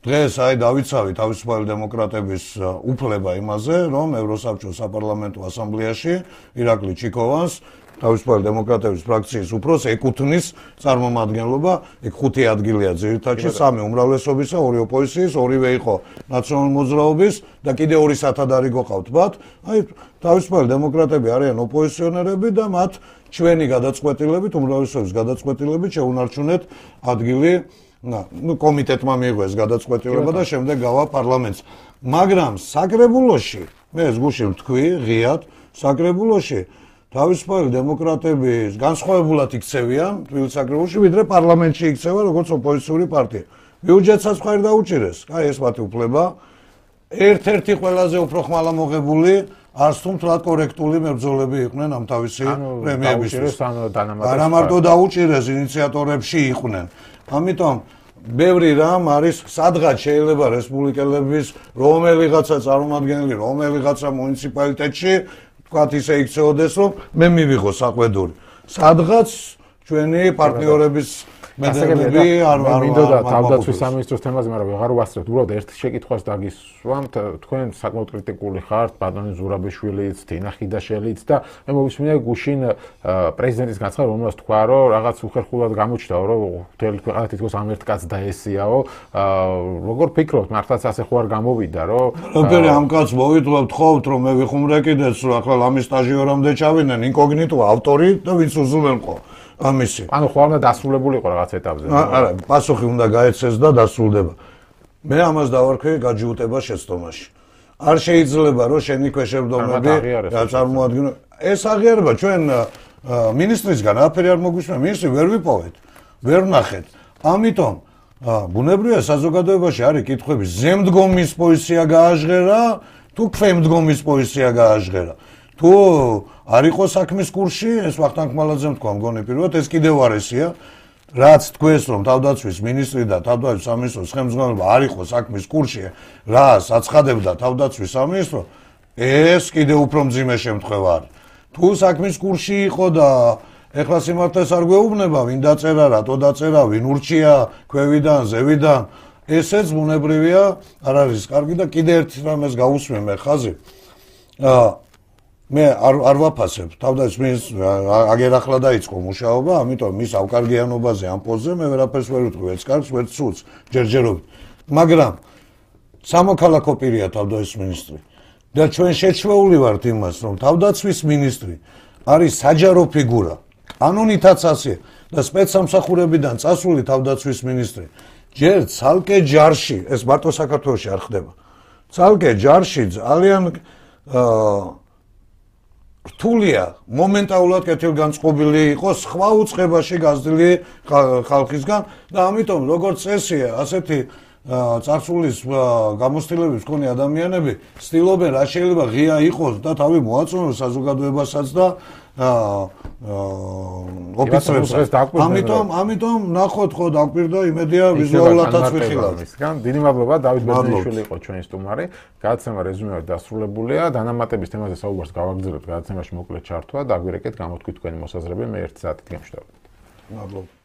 დღეს აი დავიცავი თავისუფალი დემოკრატების უფლება იმაზე, რომ ევროსაბჭოს საპარლამენტო ასამბლეაში ირაკლი ჩიკოვანს თავისუფალი დემოკრატების ფრაქციის უფროს ეკუთვნის წარმომადგენლობა, ეგ 5 ადგილია ძირითადში, 3 უმრავლესობისა, 2 ოპოზიციის, 2-ვე იყო ნაციონალური მოძრაობის და კიდე 2 სათადარი გოყავთ მათ. აი თავისუფალი დემოკრატები არიან ოპოზიციონერები და მათ ჩვენი გადაწყვეტილებით, უმრავლესობის გადაწყვეტილებით შეუნარჩუნეთ ადგილი ნუ კომიტეტმა მიიღო ეს გადაწყვეტილება და შემდეგ გავა პარლამენტს. მაგრამ საკრებულოში, მე ეს გუში ვთქვი, ღიად, საკრებულოში თავისუფალი დემოკრატები განსხვავებულად იქცევიან თბილისის საკრებულოში, ვიდრე პარლამენტში იქცევა როგორც ოპოზიციური პარტია. ბიუჯეტსაც ხარ დაუჭირეს, აი ეს მათი უფლება. ერთ-ერთი ყველაზე უფრო ხმალა მოღებული არც თუ მთლად კორექტული მებრძოლები იყვნენ ამ თავისი პრემიებისთვის. არა მარტო დაუჭირეს, ინიციატორებში იყვნენ. ამიტომ ბევრი რამ არის, სადღაც შეიძლება რესპუბლიკელების რომელიღაცა წარმომადგენელი, რომელიღაცა მუნიციპალიტეტში თქვათ ისე იქცეოდეს, რომ მე მივიღო საყვედური. სადღაც ჩვენი პარტნიორების მედლები არ მინდოდა თავდაცვის სამინისტროს თემაზე, მაგრამ ვეღარ ვასწრებთ. უბრალოდ ერთ შეკითხვას დაგისვამთ, თქვენ საკმაოდ კრიტიკული ხართ ბატონი ზურაბიშვილიც, თინა ხიდაშელიც და მე მოვისმინე გუშინ პრეზიდენტის განცხადება, რომელსაც თქვა, რომ რაღაც უხერხულად გამოჩნდაო, რომ მთელი ქვეყანა თითქოს ამ ერთ კაცს დაესიაო. როგორ ფიქრობთ, მართლაც ასე ხო არ გამოვიდა, რომ როდესაც ამ კაცს მოვიტყობთ ხოვთ, რომ მე ვიხუმრე კიდეც, რომ ახლა ლამის სტაჟიორამდე ჩავიდნენ, ინკოგნიტო ავტორი და ვინც უზრუნველყო. ამისი. ანუ ხო უნდა დასრულებული იყო რაღაც ეტაპზე. არა, პასუხი უნდა გაეცეს და დასრულდება. მე ამას დავარქვი გაჯიუტება შეცდომაში. არ შეიძლება რომ შენი ქვეშევრდომები წარმოადგინო. ეს აღიარება ჩვენ მინისტრისგან აფერი არ მოგვისმენთ, მინისტრი ვერ ვიპოვეთ, ვერ ვნახეთ. ამიტომ ბუნებრივია საზოგადოებაში არის კითხვები, ზემდგომის პოზიცია გააჟღერა, თუ ქვემდგომის პოზიცია გააჟღერა. თუ არ იყო საქმის კურსში, ეს ვახტანგ ხმალაძემ თქვა, მგონი პირველად ეს კიდევ არ ესია, რაც თქვენს რომ თავდაცვის მინისტრი და თავდაცვის სამინისტროს ხელმძღვანელობა არ იყო საქმის კურსში, რას აცხადებდა თავდაცვის სამინისტრო, ეს კიდევ უფრო მძიმე შემთხვევა არის. თუ საქმის კურსში იყო და ეხლა სიმართლეს არ გვეუბნება, ვინ დაწერა, რატო დაწერა, ვინ ურჩია, ქვევიდან, ზევიდან, ესეც ბუნებრივია, არ არის კარგი და კიდე ერთ რამეს გავუსმენ მე ხაზი. მე არ ვაფასებ. თავდაცვის აგერ ახლა დაიწყო მუშაობა, ამიტომ მის ავკარგიანობაზე ამ პოზზე მე ვერაფერს ვერ ვიტყვი, ვერც კარგს, ვერც ცუდს, ჯერჯერობით. მაგრამ სამოქალაქო პირია თავდაცვის მინისტრი. და ჩვენ შეჩვეული ვართ იმას, რომ თავდაცვის მინისტრი არის საჯარო ფიგურა. კანონითაც ასე და სპეცსამსახურებიდან წასული თავდაცვის მინისტრი ჯერ ცალკე ჯარში, ეს მარტო საქართველოში არ ხდება. ცალკე ჯარში ძალიან რთულია მომენტალურად კეთილგანწყობილი იყოს სხვა უწყებაში გაზრდილი ხალხისგან და ამიტომ როგორც წესია, ასეთი წარსულის გამოცდილების მქონე ადამიანები ცდილობენ რა შეიძლება ღია იყოს და თავი მოაწონოს საზოგადოებასაც და ოფიცრებს. ამიტომ ნახოთ ხო დაგვირდა იმედია ვიზუალურადაც ვიხილავთ. დიდი მადლობა დავით ბერძენიშვილი იყო ჩვენი სტუმარი. გადაცემა რეზუმეად დასრულებულია. დანამატების თემაზე საუბარს გავაგრძელებთ გადაცემაში მოკლედ ჩართვა. დაგვირეკეთ გამოთქვით თქვენი მოსაზრებები. მე 1 საათით გემშვიდობთ. მადლობა.